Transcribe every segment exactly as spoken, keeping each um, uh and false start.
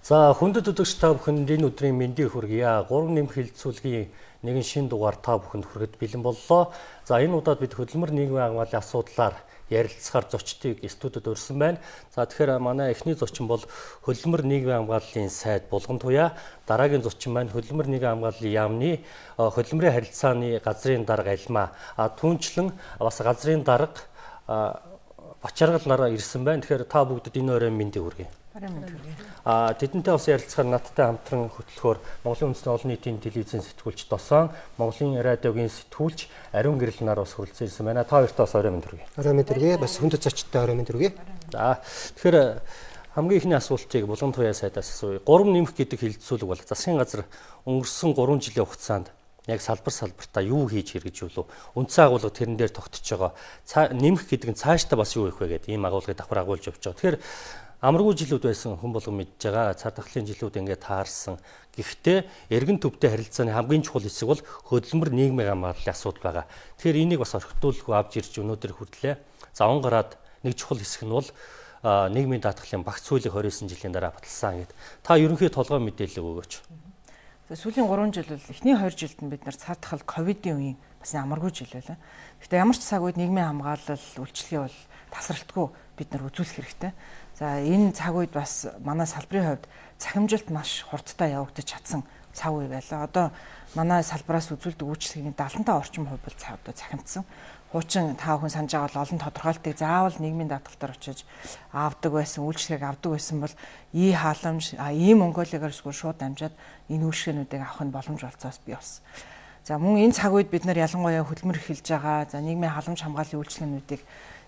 За хүндэт үзэгч та бүхэнд энэ өдрийн мэндийг хүргье. гурван нэмэх хилцүүлгийн нэгэн шин дугаар та бүхэнд хүрэхэд бэлэн боллоо. За энэ удаад бид хөдөлмөр нийгмийн хамгааллын асуудлаар ярилцахаар зочдыг студид урьсан байна. За тэгэхээр манай эхний зочин бол хөдөлмөр нийгмийн хамгааллын сайд Булган Туяа. Дараагийн зочин маань хөдөлмөр нийгмийн хамгааллын яамны хөдөлмөрийн харилцааны газрын дарга Алма. А түүнчлэн бас газрын дарга Бачаргал нараа ирсэн байна. Тэгэхээр та бүгдд энэ өрөө мэндийг хүргэе. А тэдэнтэй бас ярилцахаар надтай хамтран хөтлөхөөр Монголын үндэсний олон нийтийн телевизийн сэтгүүлч Досон, Монголын радиогийн сэтгүүлч Ариун Гэрэл нар бас хүрэлцэн ирсэн байна. Та хоёртаа бас орой мэнд хүргэе. Орой мэнд хүргэе. Бас хүндэт зочдтой орой мэнд хүргэе. За тэгэхээр хамгийн ихний асуултыг Булган Туяа сайдаас асууя. Гурван нэмэх гэдэг хилцүүлэг бол засгийн газар өнгөрсөн гурван жилийн хугацаанд яг салбар салбартаа юу хийж хэрэгжүүлв? Үндсэн агуулга тэрэн дээр тогтож байгаа. Нэмэх гэдэг нь цаашдаа бас юу их вэ гэдэг ийм агуулгыг давхар агуулж явж байгаа. Тэгэхээр амаргүй жилүүд байсан хүн болгон мэдж байгаа. Цар тахлын жилүүд ингээд таарсан. Гэхдээ эргэн төвтэй харилцааны хамгийн чухал хэсэг бол хөдөлмөр нийгмийн хамгааллын асуудал байгаа. Тэгэхээр энийг бас орхитуулгүй авч ирж өнөөдөр хүртлээ. За он гараад нэг чухал хэсэг нь бол нийгмийн даатгалын багц хуулийг двадцать нine жилийн дараа баталсан гэд. Та ерөнхий толгой мэдээлэл өгөөч. Сүүлийн гурван жил бол эхний хоёр жилд нь бид нар цар тахал ковидын үеийн бас амаргүй жил байлаа. Гэхдээ ямар ч цаг үед нийгмийн хамгаалал үйлчлэгээ бол тасралтгүй бид нар үзүүлэх хэрэгтэй. За энэ цаг үед бас манай салбарын хувьд цахимжилт маш хурдтай явагдаж чадсан цаг үе байлаа. Одоо манай салбараас үзүүлдэг үйлчлэгийн seventy орчим хувь бол одоо цахимдсан. Хуучин та бүхэн санаж байгаа бол олон тодорхойлтыг заавал нийгмийн даатгалтаар очиж авдаг байсан, үйлчлэгийг авдаг байсан бол ий халамж, ийм Монголигаар шууд дамжаад энэ үйлчлэгээнүүдийг авах нь боломж болцоос бий болсон. За мөн энэ цаг үед бид нар ялангуяа хөдөлмөр эхэлж байгаа. За нийгмийн халамж хамгааллын үйлчлэгээнүүдийг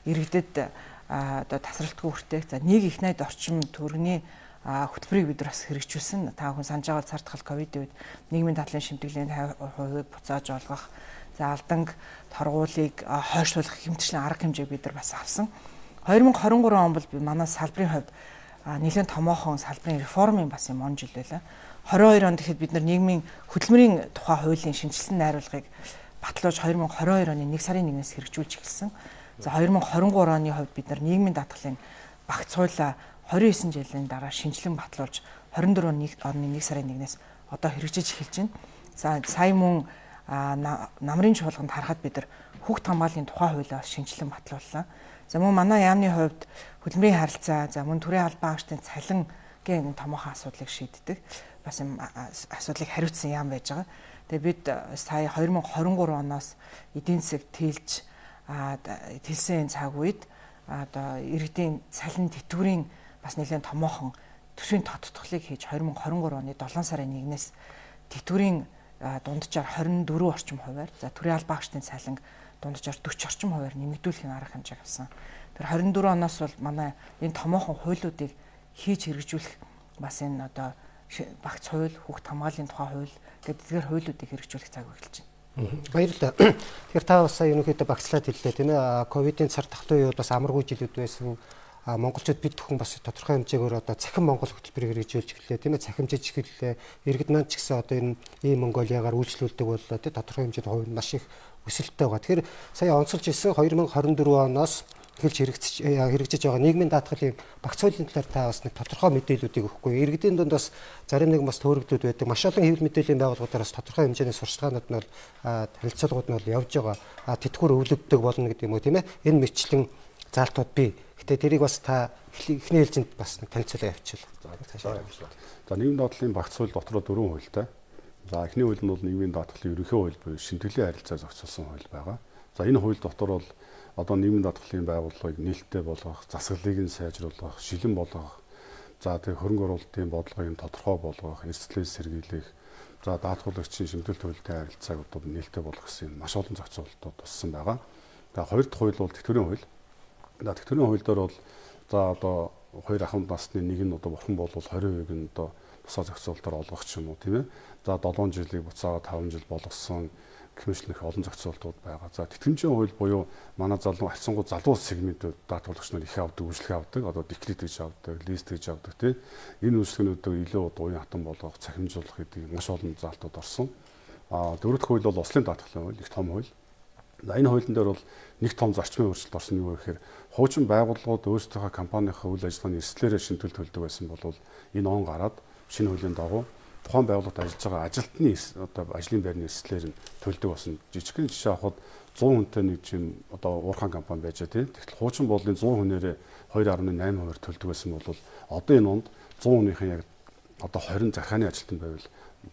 иргэдэд одоо тасралтгүй хүртээх. За нэг их найд орчим төгрөгийн хөтөлбөрийг бид нар бас хэрэгжүүлсэн. Та бүхэн санаж байгаа цар тахал ковидын үед нийгмийн даатгалын шимтгэлийн fifty percent-ийг буцааж олгох, за алданг торгуулийг хойшлуулах хэмжээний арга хэмжээг бид нар бас авсан. twenty twenty-three он бол манай салбарын хувьд нэлээд томоохон салбарын реформын бас юм он жил байлаа. twenty-two онд гэхэд бид нар нийгмийн хөдөлмөрийн тухай хуулийн шинжилсэн найруулгыг батлуулж twenty twenty-two оны нэг сарын нэгнээс хэрэгжүүлж эхэлсэн. За twenty twenty-three оны хувьд бид нар нийгмийн даатгалын багц хуулиа twenty-nine жилийн дараа шинжилэн батлуулж twenty-four оны нэг сарын нэгнээс одоо хэрэгжиж эхэлж байна. За сая мөн намрын чуулганд харахад бид нар хүүхд хамгааллын тухай хуулиа шинжилэн батлууллаа. За мөн манай яамны хувьд хөдөлмөрийн харилцаа, за мөн төрийн албан агчдын цалингийн томоохон асуудлыг шийддэг. Бас юм асуудлыг хариуцсан яам байж байгаа. Тэгээ бид сая twenty twenty-three оноос эдийн засаг тэлж тэлсэн цаг үед одоо иргэдийн цалин тэтгэврийн бас нэлээд томоохон төсвийн тодтголыг хийж twenty twenty-three оны seven сарын нэгнээс тэтгэврийн дунджаар twenty-four орчим хувиар, за төрийн албан агчдын цалин дунджаар forty орчим хувиар нэмэгдүүлэхийн арга хэмжээг авсан. Тэр twenty-four оноос бол манай энэ томоохон хуулиудыг хийж хэрэгжүүлэх бас энэ одоо багц хууль, хүүхд хамгааллын тухай хууль гэдэг эдгээр хуулиудыг хэрэгжүүлэх цаг эхэлж байна. Баярлалаа. Тэгэхээр та бас сая ерөнхийдөө багцлаад хэллээ тийм ээ. Ковидын цар тахлын үед бас амаргүй жилүүд байсан. Монголчууд бид бүхэн бас тодорхой хэмжээгээр одоо цахим Монгол хөтөлбөрийг хэрэгжүүлж эхэллээ тийм ээ. Цахимжиж эхэллээ. Иргэд маань ч гэсэн одоо энэ ийм Монголиагаар үйлчлүүлдэг боллоо тийм тодорхой хэмжээнд хувь нь маш их өсөлттэй байгаа. Тэгэхээр сая онцолж ирсэн twenty twenty-four оноос эхэлж хэрэгжиж хэрэгжиж байгаа нийгмийн даатгалын багц хуулийн талаар та бас нэг тодорхой мэдээллүүдийг өгөхгүй. Иргэдийн дунд бас зарим нэг бас төөрөгдүүд байдаг. Маш олон хэвлэл мэдээллийн байгууллагуудаар бас тодорхой хэмжээний сурчлагууд нь бол харилцаагууд нь бол явж байгаа. Тэтгэвэр өвлөгддөг болно гэдэг юм уу тийм ээ. Энэ мэтчлэн заалтууд бий. Гэтэ тэрийг бас та эхний ээлжинд бас нэг танилцуулаа явуулчихлаа. За нийгмийн даатгалын багц хууль дотроо дөрвөн хуультай. За эхний хууль нь бол нийгмийн даатгалын ерөнхий хууль буюу шимтгэлийн харилцаа зохицуулсан хууль байгаа. За энэ хууль дотор бол одоо нийгмийн даатгалын байгууллагыг нээлттэй болгох, засаглалыг нь сайжруулах, шилэн болгох, за тэг хөрөнгө оруулалтын бодлогыг нь тодорхой болгох, эрсдлээ сэргийлэх, за даатгуулагчийн шимтгэлт хуультай харилцааг одоо нээлттэй болгох гэсэн маш олон зохицуулалтууд туссан байгаа. За хоёр дахь хууль бол тэтгэврийн хууль. За тэтгэврийн хууль дээр бол за одоо хоёр ахмад насны нэг нь одоо бурхан болвол twenty percent нь одоо тусаа зохицуулалтаар олгох ч юм уу тийм ээ. За seven жилийг буцаага five жил болгосон гэмшлэх олон зохицуултууд байгаа. За тэтгэмжийн хууль буюу манай залуу харьцангуй залуу сегментүүд даатгуулагч нар их авдаг, үйлчлэг авдаг, одоо декрет гэж авдаг, лист гэж авдаг тийм. Энэ үйлчлэгнүүдийг илүү уян хатан болгох, цахимжуулах гэдэг маш олон залтууд орсон. А дөрөв дэх хууль бол ослын даатгалын хууль, их том хууль. За энэ хуулийн дээр бол нэг том зарчмын өөрчлөлт орсон юу гэхээр хуучин байгууллагууд өөрсдийнхөө компанийнхаа үйл ажиллагааны эрсдлээрээ шимтгэлт төлдөг байсан бол энэ он гараад шинэ хуулийн дагуу тухайн байгууллагад ажиллаж байгаа ажилтны одоо ажлын байрны эрсдлээр нь төлдөг болсон. Жижигхэн жишээ авахад зуун хүнтэй нэг жим одоо уурхайн компани байж байгаа тийм. Тэгтэл хуучин боллын зуун хүнээрээ two point eight хувиар төлдөг байсан бол одоо энэ онд зуун хүнийхэн яг одоо twenty захааны ажилтан байвал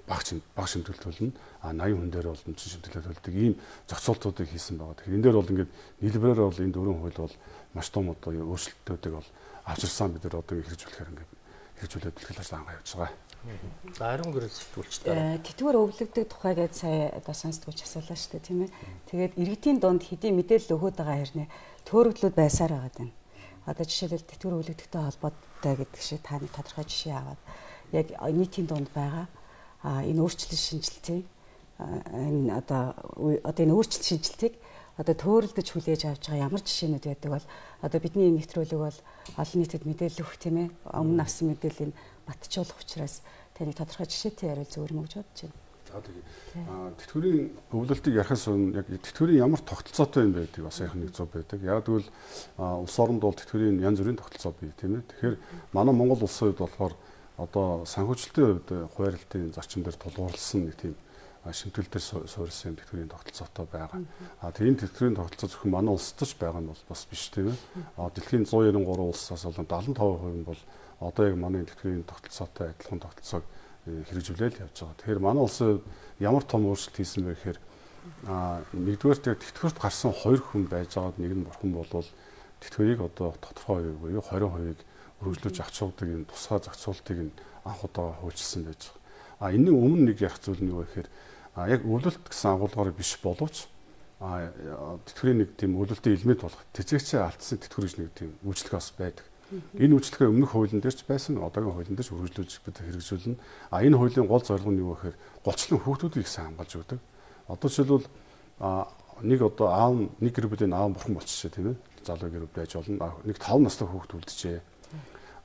баг баг шимтгэлт төлнө. А eighty хүн дээр бол үндсэн шимтгэлт төлдөг ийм зохицуултуудыг хийсэн байгаа. Тэгэхээр энэ дээр бол ингээд нийлбэрээр бол энэ дөрвөн хууль бол маш том одоо өөрчлөлтүүдийг бол авчирсан бид нар одоо хэрэгжүүлэхээр ингээд хэрэгжүүлээд бэлтгэл ажиллагаа явуулж байгаа. За ариун гэрэл сэтгүүлчтэй. Тэтгэвэр өвлөгдөг тухай гэж сая одоо сонсдгооч асуулаа шүү дээ тийм ээ. Тэгээд иргэдийн дунд хэдийн мэдээлэл өгöd байгаа хэрнээ төөрөглүүд байсаар байгаа юм. Одоо жишээлбэл тэтгэвэр өвлөгдөгтэй холбоотой гэдэг шиг таны тодорхой жишээ аваад яг нийтийн дунд байгаа а энэ өөрчлөлт шинжилтийг энэ одоо одоо энэ өөрчлөлт шинжилтийг одоо төөрөлдөж хүлээж авч байгаа ямар жишээнүүд байдаг бол одоо бидний нэвтрүүлэг бол олон нийтэд мэдээлэл өгөх тийм ээ өмнө авсан мэдээллийг батжуулах учраас таны тодорхой жишээтэй яриул зөвөр мөгж бодож байна. За тэгээ. Аа тэтгэврийн өвлөлтийг ярихаас өмнө яг тэтгэврийн ямар тогтолцоотой юм байдаг бас яг нэг зөв байдаг. Яг тэгвэл улс оронд бол тэтгэврийн янз бүрийн тогтолцоо бий тийм ээ. Тэгэхээр манай Монгол улсын хувьд болохоор одоо санхүүжилтийн хувьд хуваарлтын зарчим дээр тулгуурласан нэг тийм шимтгэл дээр суурилсан тэтгэврийн тогтолцоотой байгаа. А тийм тэтгэврийн тогтолцоо зөвхөн манай улсад ч байгаа нь бол бас биш тийм ээ. А дэлхийн one hundred ninety-three улсаас болон seventy-five percent нь бол одоо яг манай тэтгэврийн тогтолцоотой адилхан тогтолцоог хэрэгжүүлээд явж байгаа. Тэгэхээр манай улсын ямар том өөрчлөлт хийсэн бэ гэхээр а нэгдүгээр тэтгэврт гарсан хоёр хүн байж байгаад нэг нь бурхан болвол тэтгэврийг одоо тодорхой хувийг буюу twenty percent өргөжлөж авч явдаг энэ тусгай зохицуултыг нь анх удаа хөгжүүлсэн байж байгаа. А энэний өмнө нэг ярих зүйл нь юу вэ гэхээр а яг өвлөлт гэсэн агуулгаар биш боловч а тэтгэврийн нэг тийм өвлөлтийн элемент болох тэжээгчээ алдсан тэтгэвэр гэж нэг тийм үйлчлэг бас байдаг. Энэ үйлчлэгээ өмнөх хуулийн дээр ч байсан, одоогийн хуулийн дээр ч үргэлжлүүлж бид хэрэгжүүлнэ. А энэ хуулийн гол зорилго нь юу вэ гэхээр голчлон хүүхдүүдийг сайн хамгаалж өгдөг. Одоо жишээлбэл а нэг одоо аав нэг гэр бүлийн аав бурхан болчихжээ тийм ээ. Залуу гэр бүл байж болно. Нэг five настай хүүхд үлджээ.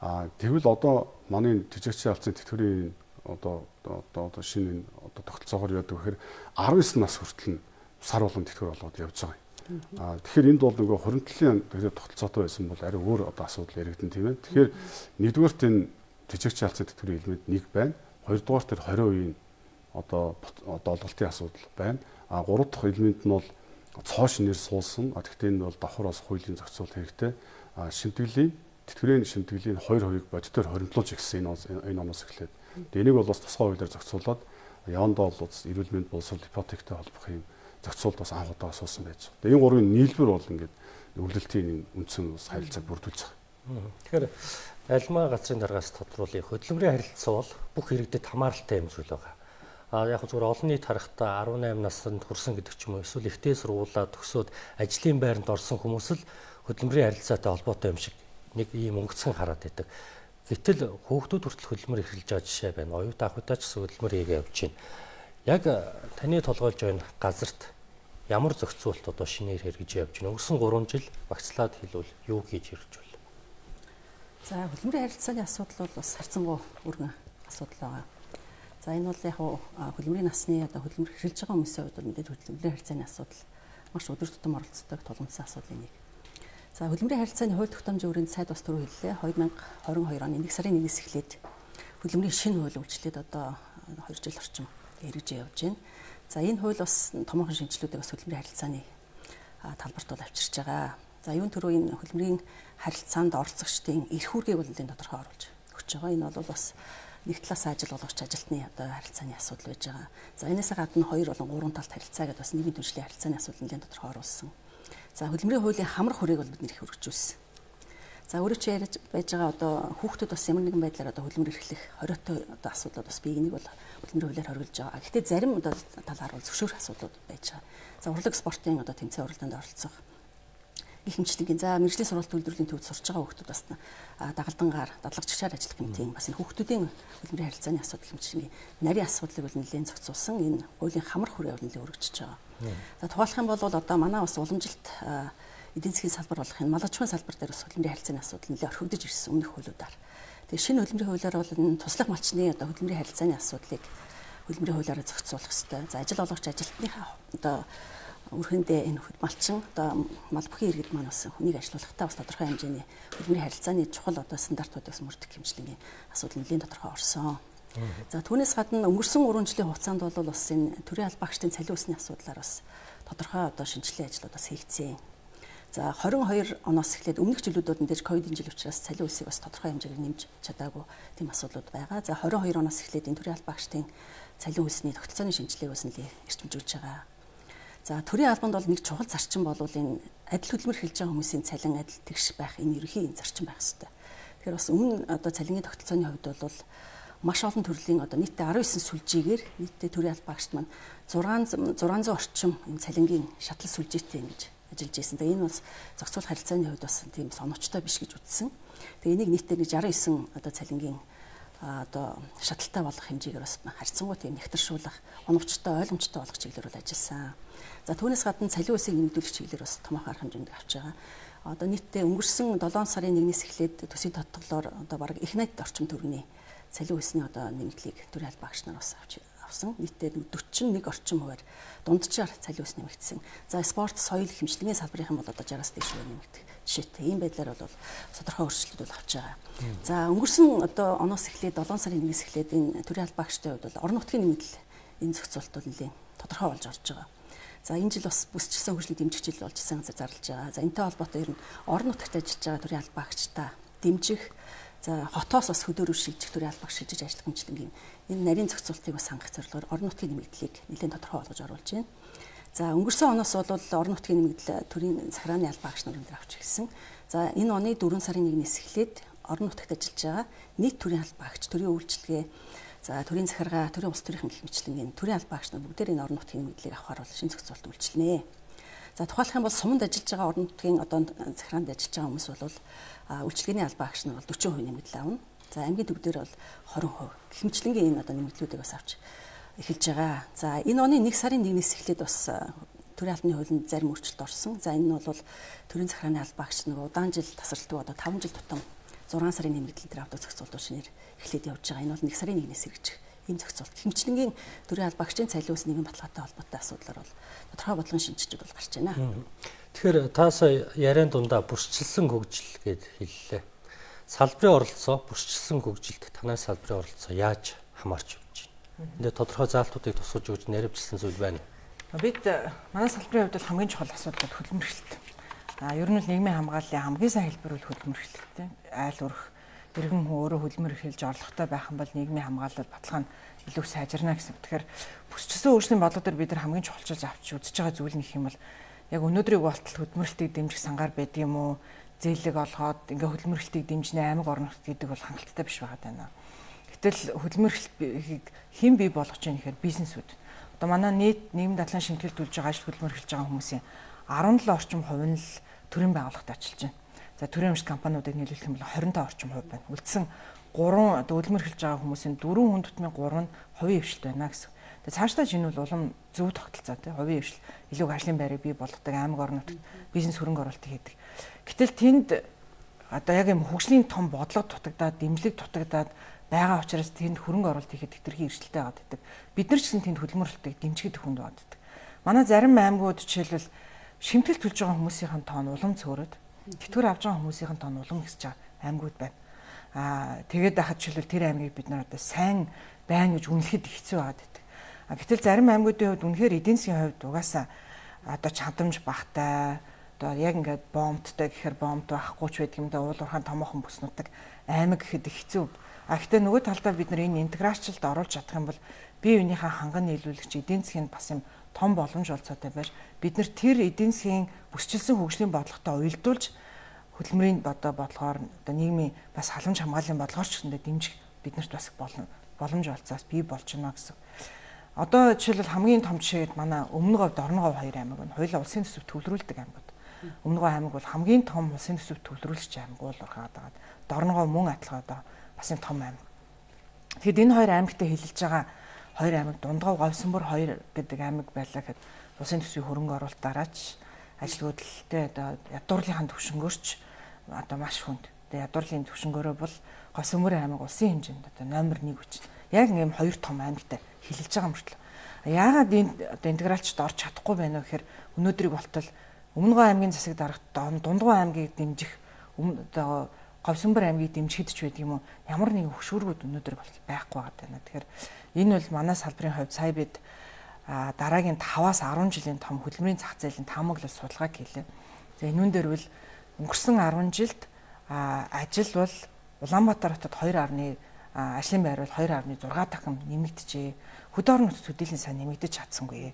А тэгвэл одоо манай тэжээгчээ алдсан тэтгэврийн одоо одоо одоо шинэ одоо тогтолцоогоор яадаг гэхээр nineteen нас хүртэл нь сар болгон тэтгэвэр болгоод явж байгаа юм. А тэгэхээр энд бол нөгөө хуримтлалын тэгээд тогтолцоотой байсан бол арай өөр одоо асуудал яригдэн тийм ээ. Тэгэхээр нэгдүгээрт энэ тэжээгчийн алдсан тэтгэврийн элемент нэг байна. Хоёрдугаар тэр twenty percent одоо одоо олголтын асуудал байна. А гурав дахь элемент нь бол цоо шинээр суулсан. А тэгтээ энэ бол давхраас хуулийн зохицуулалт хэрэгтэй. А шимтгэлийн тэтгэврийн шимтгэлийн two percent бодитоор хоримтлуулж ихсэн энэ энэ оноос эхлээд. Тэгээ энийг бол бас тусгай хуулиар зохицуулаад явандаа бол эрүүл мэнд боловсрол ипотектэй холбох юм зохицуулт бас анх удаа асуусан байж байгаа. Тэгээ энэ гурвын нийлбэр бол ингээд өвлөлтийн үндсэн бас харилцааг бүрдүүлж байгаа. Тэгэхээр альмаа газрын даргаас тодруулах хөдөлмөрийн харилцаа бол бүх иргэдэд хамааралтай юм зүйл байгаа. А яг зүгээр олон нийт харахтаа eighteen наснд хүрсэн гэдэг ч юм уу эсвэл ихтэй сургуулаа төгсөөд ажлын байранд орсон хүмүүс л хөдөлмөрийн харилцаатай холбоотой юм шиг нэг ийм өнгөцгөн хараад байдаг. Гэтэл хүүхдүүд хүртэл хөдөлмөр эрхэлж байгаа жишээ байна. Оюут ахуйтай ч хөдөлмөр хийгээ явж байна. Яг таны толгойлж байна газарт ямар зохицуулт одоо шинээр хэрэгжиж явж байна. Өнгөрсөн three жил багцлаад хэлвэл юу хийж ирж байна? За хөдөлмөрийн харилцааны асуудал бол бас харьцангуй өргөн асуудал байгаа. За энэ бол яг хөдөлмөрийн насны одоо хөдөлмөр хэрэгжилж байгаа хүмүүсийн хувьд мэдээж хөдөлмөрийн харилцааны асуудал маш өдөр тутам оролцдог тулгымцсан асуудлын нэг. За хөдөлмөрийн харилцааны хууль тогтоомжийн өрөөнд сайд бас түрүү хэллээ. twenty twenty-two оны нэг сарын нэгээс эхлээд хөдөлмөрийн шинэ хууль үйлчлээд одоо two жил орчим хэрэгжиж явж байна. За энэ хууль бас томоохон шинжилгүүдийг бас хөдөлмөрийн харилцааны талбарт бол авчирч байгаа. За юун төрөө энэ хөдөлмөрийн харилцаанд оролцогчдын эрх үүргийг бол энэ тодорхой оруулж өгч байгаа. Энэ бол бас нэг талаас ажил олгогч ажилтны одоо харилцааны асуудал байж байгаа. За энэсээ гадна хоёр болон гурван талт харилцаа гэдэг бас нийгмийн түншлэлийн харилцааны асуудал нэлээд тодорхой оруулсан. За хөдөлмөрийн хуулийн хамрах хүрээг бол бид нэр их хөргөжүүлсэн. За өөрөө ч ярьж байж байгаа одоо хүүхдүүд бас ямар нэгэн байдлаар одоо хөдөлмөр эрхлэх хориотой одоо асуудлууд бас бий. Энийг бол хөдөлмөрийн хуулиар хориглож байгаа. Гэхдээ зарим одоо талаар бол зөвшөөрөх асуудлууд байж байгаа. За урлаг спортын одоо тэмцээн уралдаанд оролцох гэх мэтчлэнгийн за мэргэжлийн сургалт үйлдвэрлэлийн төвд сурч байгаа хүүхдүүд бас дагалдангаар дадлагчаар ажиллах гэмтийн бас энэ хүүхдүүдийн хөдөлмөрийн харилцааны асуудал хэмжээний нарийн асуудлыг бол нэлээд зохицуулсан энэ хуулийн хамрах хүрээ бол нэлээд өргөжж байгаа. За тухайлах юм бол одоо манай бас уламжилт эдийн засгийн салбар болох энэ мал аж ахуйн салбар дээр бас хөдөлмөрийн харилцааны асуудал нэлээд орхигдож ирсэн өмнөх хуулиудаар. Тэгээ шинэ хөдөлмөрийн хуулиар бол энэ туслах малчны одоо хөдөлмөрийн харилцааны асуудлыг хөдөлмөрийн хуулиараа зохицуулах хэрэгтэй. За ажил олгогч ажилтныхаа одоо Үрхэндээ энэ малчин одоо мал бүхий иргэд маань бас хүнийг ажилуулахдаа бас тодорхой хэмжээний хөдөлмөрийн харилцааны чухал одоо стандартуудаас мөрдөх хэмжлэгийн асуудал нэлийн тодорхой орсон. За түүнээс гадна өнгөрсөн гурван жилийн хугацаанд бол бас энэ төрийн албаагчдын цалин өсний асуудлаар бас тодорхой одоо шинжилгээ ажлууд бас хийгдсэн. За двадцать two оноос эхлээд өмнөх жилүүдүүд мэдээж ковидын жил учраас цалин өсийг бас тодорхой хэмжээгээр нэмж чадаагүй тийм асуудлууд байгаа. За двадцать two оноос эхлээд энэ төрийн албаагчдын цалин өсний тогтолцооны шинжилгээг бас нэлээд эрчимжүүлж байгаа. За төрийн албанд бол нэг чухал зарчим бол энэ адил хөдөлмөр эхэлж байгаа хүмүүсийн цалин адил тэгш байх энэ ерөнхий зарчим байх хэрэгтэй. Тэгэхээр бас өмнө одоо цалингийн тогтолцооны хувьд бол маш олон төрлийн одоо нийтдээ nineteen сүлжээгээр нийтдээ төрийн албаагчид маань six hundred орчим энэ цалингийн шатлал сүлжээтэй ингэж ажиллаж байсан. Тэгээ энэ бас зохицуулах харилцааны хувьд бас тийм соновчтой биш гэж үзсэн. Тэгээ энийг нийтдээ нэг sixty-nine одоо цалингийн одоо шаталтай болох хэмжээгээр бас харьцангуй тийм нэгтэршүүлэх, оновчтой, ойлгомжтой болгох чиглэлээр бол ажилласан. За түүнээс гадна цалин өсийг нэмэгдүүлэх чиглэлээр бас томоохон арга хэмжээнд авч байгаа. Одоо нийтдээ өнгөрсөн seven сарын one-ээс эхлээд төсвийн тодтоглоор одоо бараг их найдад орчим төгрөгийн цалин өсний одоо нэмэгдлийг төрийн албаагч нар бас авч авсан. Нийтдээ forty-one орчим хувиар дунджаар цалин өс нэмэгдсэн. За спорт, соёл, хэмжлэгийн салбарын бол одоо sixty-аас дээш нэмэгдэх жишээтэй. Ийм байдлаар бол тодорхой өөрчлөлтүүд бол авч байгаа. За өнгөрсөн одоо оноос эхлээд seven сарын one-ээс эхлээд энэ төрийн албаагчдын хувьд бол орон нутгийн нэмэгдэл энэ зохицуулалт бол нэлээд тодорхой болж орж байгаа. За энэ жил бас бүсчилсэн хөгжлийг дэмжих жил болж сайн зарлаж байгаа. За энэтэй холбоотой ер нь орон нутагт ажиллаж байгаа төрийн албаагчдаа дэмжих, за хотоос бас хөдөөрөв шийдэх төрийн албаагч шийдэж ажиллах хэмжлэнгийн энэ нарийн зохицуултыг бас хангах зорилгоор орон нутгийн нэмэгдлийг нэлээд тодорхой болгож оруулж байна. За өнгөрсөн оноос бол орон нутгийн нэмэгдэл төрийн захиргааны албаагч нарын дээр авч ирсэн. За энэ оны four сарын one-ээс эхлээд орон нутагт ажиллаж байгаа нийт төрийн албаагч, төрийн үйлчилгээ, за төрийн захиргаа, төрийн улс төрийн гэх мэтчлэнгийн төрийн албаагч нар бүгдээр энэ орон нутгийн нэмэгдлийг авахар бол шинэ зохицуулалт үйлчилнэ. За тухайлах юм бол суманд ажиллаж байгаа орон нутгийн одоо захиргаанд ажиллаж байгаа хүмүүс бол үйлчилгээний албаагч нар бол forty percent нэмэгдэл авна. За аймгийн төв дээр бол twenty percent гэх мэтчлэнгийн энэ одоо нэмэгдлүүдийг бас авч эхэлж байгаа. За энэ оны one сарын one-ээс эхлээд бас төрийн албаны хуулинд зарим өөрчлөлт орсон. За энэ нь бол төрийн захиргааны албаагч нэг удаан жил тасралтгүй одоо five жил тутам six сарын нэмэгдэл дээр авдаг зохицуулалт шинээр эхлээд явж байгаа. Энэ бол one сарын one-ээс хэрэгжих ийм зохицуулалт. Хэмжлэнгийн төрийн албаагчдын цалин өс нийгэм баталгаатай холбоотой асуудлаар бол тодорхой бодлогын шинжилгээг бол гарч байна. Тэгэхээр та сая яриан дундаа бүрчилсэн хөгжил гэд хэллээ. Салбарын оролцоо, бүрчилсэн хөгжилд танай салбарын оролцоо яаж хамаарч явж байна? Энд тодорхой заалтуудыг тусгаж өгч наривчилсан зүйл байна. Бид манай салбарын хувьд бол хамгийн чухал асуудал бол хөдөлмөр эрхлэлт. А ер нь л нийгмийн хамгааллын хамгийн сайн хэлбэр бол хөдөлмөр эрхлэлтэй. Айл өрх иргэн хүн өөрөө хөдөлмөр эрхэлж орлоготой байх юм бол нийгмийн хамгаалал баталгаа нь илүү сайжирна гэсэн. Тэгэхээр бүсчилсэн өөрсдийн бодлого дээр бид нар хамгийн чухалчилж авч үзэж байгаа зүйл нь гэх юм бол яг өнөөдрийг болтол хөдөлмөрлөлтийг дэмжих сангаар байд юм уу? Зээлэг олгоод ингээ хөдөлмөрлөлтийг дэмжнэ аймаг орон нутг гэдэг бол хангалттай биш байгаа даа. Гэтэл хөдөлмөрлөлтийг хэн бий болгож байгаа нэхэр бизнесүүд. Одоо манай нийт нийгэм дадлан шимтгэлдүүлж байгаа ажил хөдөлмөр эхэлж байгаа хүмүүсийн seventy-seven орчим хувь нь л төрийн байгууллагад ажиллаж байна. За төрийн өмчт компаниудыг нийлүүлэх юм бол twenty-five орчим хувь байна. Үлдсэн three хөдөлмөр эхэлж байгаа хүмүүсийн four хүн тутмын three нь хувийн хвшилт байна гэсэн. Тэгээ цаашдаа энэ бол улам зөв тогтолцоо тий хувийн хвшил илүү ажлын байрыг бий болгодог аймаг орон нутагт бизнес хөрөнгө оруулалтыг хийдэг. Гэтэл тэнд одоо яг юм хөгжлийн том бодлого дутагдаад дэмжлэг дутагдаад байгаа учраас тэнд хөрөнгө оруулалт хийхэд хэтэрхий эрсдэлтэй байгаад байдаг. Бид нар ч гэсэн тэнд хөдөлмөрлөлтийг дэмжихэд хүнд байдаг. Манай зарим аймагуд жишээлбэл шимтгэл төлж байгаа хүмүүсийн тоо нь улам цөөрөд тэтгэр авж байгаа хүмүүсийн тоо нь улам ихсэж байгаа аймагуд байна. Аа тэгээд дахад жишээлбэл тэр аймгийг бид нар одоо сайн байна гэж үнэлэхэд хэцүү байгаад байдаг. А гэтэл зарим аймагуудын хувьд үнэхээр эдийн засгийн хувьд угаасаа одоо чадамж багтай одоо яг ингээд бомбттай гэхээр бомб байхгүй ч байдаг юм да уул уурхайн томоохон бүснүүдтэй аймаг гэхэд хэцүү. А гэхдээ нөгөө талдаа бид нар энэ интеграцчлалд оруулж чадах юм бол бие биенийхээ ханган нийлүүлэгч эдийн засгийн бас юм том боломж олцоотой байж бид нар тэр эдийн засгийн бүсчилсэн хөгжлийн бодлоготой уялдуулж хөдөлмөрийн одоо бодлогоор одоо нийгмийн бас халамж хамгааллын бодлогоор ч гэсэндээ дэмжих биднэрт бас боломж олцоос бий болж байна гэсэн. Одоо жишээлбэл хамгийн том жишээд манай Өмнө Говь, Дорно Говь хоёр аймаг байна. Хоёулаа улсын төсөвт төвлөрүүлдэг аймагуд. Өмнө Говь аймаг бол хамгийн том улсын төсөвт төвлөрүүлж аймаг уул уурхаад байгаа. Дорно Говь мөн адилхан одоо бас энэ том аймаг. Тэгэхэд энэ хоёр аймагтай хэлэлж байгаа хоёр аймаг Дундгов, Говьсонбор хоёр гэдэг аймаг байлаа гэхэд улсын төсвийн хөрөнгө оруулалт дараач ажил хөдөлгөлтөд одоо ядуурлынхаа төвшнгөөрч одоо маш хүнд. Тэгээ ядуурлын төвшнгөөрөө бол Говьсонбор аймаг улсын хэмжээнд одоо номер one хүч. Яг ийм хоёр том аймагтай хэлэлж байгаа мөртлөө. Яагаад энэ одоо интегралчд орж чадахгүй байна вэ гэхээр өнөөдрийг болтол Өмнөгөө аймгийн засаг дарагт Дундгой аймгийг дэмжих одоо Говьсөнбөр аймгийг дэмжихэд ч байдаг юм уу? Ямар нэгэн хөшүүргүүд өнөөдөр байхгүй байна. Тэгэхээр энэ бол манай салбарын хувьд сая бид дараагийн таваас арван жилийн том хөдөлмөрийн зах зээлийн таамаглал судалгааг хийлээ. За энүүн дээр бол өнгөрсөн арван жилд ажил бол Улаанбаатар хотод хоёр гаруй ажлын байр бол хоёр гаруй зураг дахин нэмэгдэжээ. Хөдөө орон нутгийн төдийлөн сайн нэмэгдэж чадсангүй.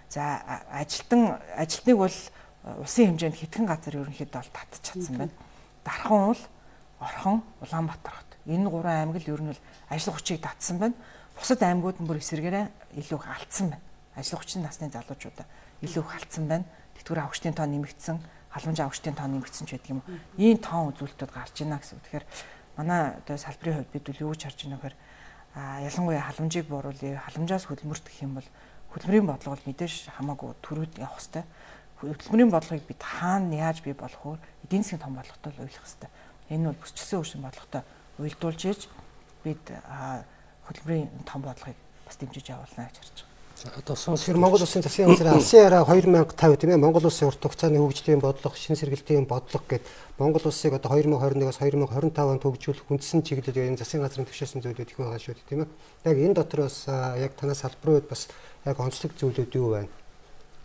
За ажилтан ажилтныг бол улсын хэмжээнд хэдхэн газар ерөнхийдөө бол татж чадсан байна. Дархан бол Орхон, Улаанбаатар хот. Энэ гурван аймаг л ер нь бол ажил хүчийг татсан байна. Бусад аймагуд нь бүр эсрэгээрээ илүү их алдсан байна. Ажил хүчний насны залуучуудаа илүү их алдсан байна. Тэтгэврийн авагчдын тоо нэмэгдсэн, халамжийн авагчдын тоо нэмэгдсэн ч байдаг юм. Ийм тоон үзүүлэлтүүд гарч байна гэсэн. Тэгэхээр манай одоо салбарын хувьд бид юу гэж харж байна вэ гэхээр ялангуяа халамжийг бууруулъя, халамжаас хөдөлмөрт гэх юм бол хөдөлмөрийн бодлого бол мэдээж хамаагүй төрүүд явах хэрэгтэй. Хөдөлмөрийн бодлогыг бид хаана яаж бий болох вэ? Эдийн засгийн том бодлоготой ойлгох хэрэгтэй. Энэ бол бүсчилсэн өвчин бодлоготой уялдуулж иж бид хөдөлмөрийн том бодлогыг бас дэмжиж явуулна гэж харж байгаа. За одоо сонсохоор Монгол Улсын засгийн газрын алсын яриа две тысячи пятьдесят тийм ээ Монгол Улсын урт хугацааны хөгжлийн бодлого, шин сэргэлтийн бодлого гэд Монгол Улсыг одоо две тысячи двадцать one-аас две тысячи двадцать five онд хөгжүүлэх үндсэн чиглэл энэ засгийн газрын төвшөөсөн зүйлүүд их байгаа шүү дээ тийм ээ. Яг энэ дотор бас яг танаас салбарууд бас яг онцлог зүйлүүд юу байна?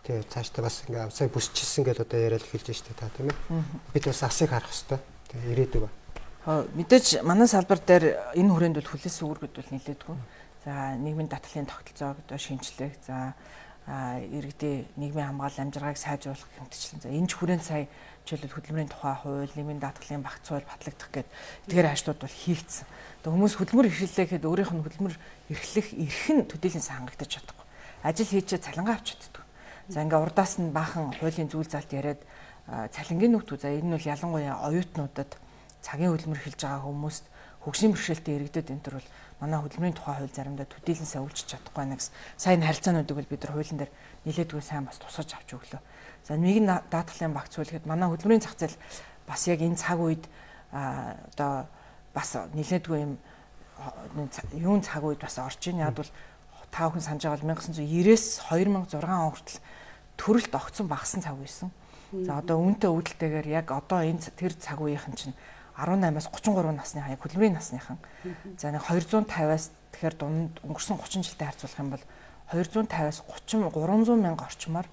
Тэгээ цаашдаа бас ингээ сая бүсчилсэн гэж одоо яриад хэлж штэ та тийм ээ. Бид бас асыг харах хэрэгтэй. Тэгээ ирээдүг ба. Мэдээж манай салбар дээр энэ хүрээнд бол хүлээс үүргэд бол нэлээдгүй. За нийгмийн даатгалын тогтолцоог одоо шинжлэх, за иргэдийн нийгмийн хамгаалал амжиргааг сайжруулах хэмтчлэн. За энэ ч хүрээнд сая жишээлбэл хөдөлмөрийн тухай хууль, нийгмийн даатгалын багц хууль батлагдах гэдэг эдгээр ажлууд бол хийгдсэн. Тэгээ хүмүүс хөдөлмөр эрхлэлээ гэхэд өөрийнх нь хөдөлмөр эрхлэх эрх нь төдийлөн хангагдаж чадахгүй. Ажил хийчээ цалингаа авч чаддаг. За ингээ урдаас нь баахан хуулийн зүйл залт яриад цалингийн нүгт үү. За энэ нь бол ялангуяа оюутнуудад цагийн хөдөлмөр эхэлж байгаа хүмүүст хөгжлийн бэрхшээлтэй иргэдэд энэ төр бол манай хөдөлмөрийн тухай хууль заримдаа төдийлөн сайн үйлчилж чадахгүй нэгс сайн харилцаануудыг бол бид нар хуулийн дээр нэлээдгүй сайн бас тусгаж авч өглөө. За нийгмийн даатгалын багц хууль гэхэд манай хөдөлмөрийн зах зээл бас яг энэ цаг үед одоо бас нэлээдгүй юм юун цаг үед бас орж ийн. Яг бол та бүхэн санаж байгаа бол nineteen ninety-ээс two thousand six он хүртэл төрөлт огцон багассан цаг байсан. За одоо үүнтэй үүдэлтэйгээр яг одоо энэ тэр цаг үеийнхэн чинь eighteen-аас thirty-three насны хаяг хөдөлмөрийн насныхан. За нэг two fifty-аас тэгэхээр дунд өнгөрсөн thirty жилтэй харьцуулах юм бол two fifty-аас thirty three hundred мянга орчмоор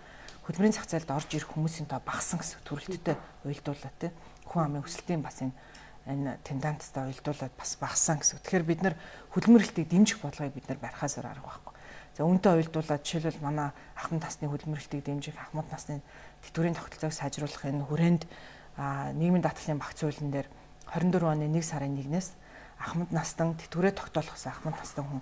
хөдөлмөрийн зах зээлд орж ирэх хүмүүсийн тоо багассан гэсэн төрөлттэй уялдуулаад тий. Хүн амын өсөлтийн бас энэ энэ тенденцтай уялдуулаад бас багассан гэсэн. Тэгэхээр бид нар хөдөлмөр эрхлэлтийг дэмжих бодлогыг бид нар барихаас арга байхгүй. За үүнтэй уялдуулаад жишээлбэл манай ахмад насны хөдөлмөр эрхлэлтийг дэмжих, ахмад насны тэтгэврийн тогтолцоог сайжруулах энэ хүрээнд нийгмийн даатгалын багц хуулийн дээр twenty-four оны one сарын one-ээс ахмад настан тэтгэврээ тогтоолгосон ахмад настан хүн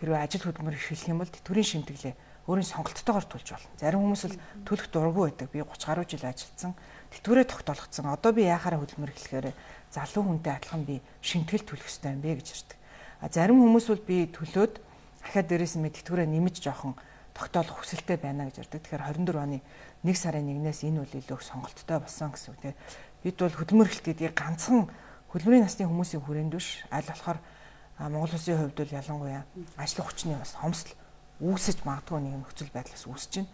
хэрвээ ажил хөдөлмөр эрхлэх юм бол тэтгэврийн шимтгэлээ өөрийн сонголттойгоор төлж болно. Зарим хүмүүс л төлөх дурггүй байдаг. Би thirty гаруй жил ажилласан. Тэтгэврээ тогтоолгосон. Одоо би яахаараа хөдөлмөр эрхлэхээр залуу хүнтэй адилхан би шимтгэл төлөх ёстой юм бэ гэж ирдэг. А зарим хүмүүс бол би төлөөд дахиад дээрээс нь тэтгэврээ нэмэж жоохон тогтоолох хүсэлтэй байна гэж ирдэг. Тэгэхээр twenty-four оны one сарын one-ээс энэ үл илүү сонголттой болсон гэсэн үг. Тэгээ бид бол хөдөлмөр эрхлэлтийг ганцхан хөдөлмөрийн насны хүмүүсийн хүрээнд биш аль болохоор Монгол Улсын хувьд бол ялангуяа ажлын хүчний бас хомсдол үүсэж магадгүй нэг нөхцөл байдлаас үүсэж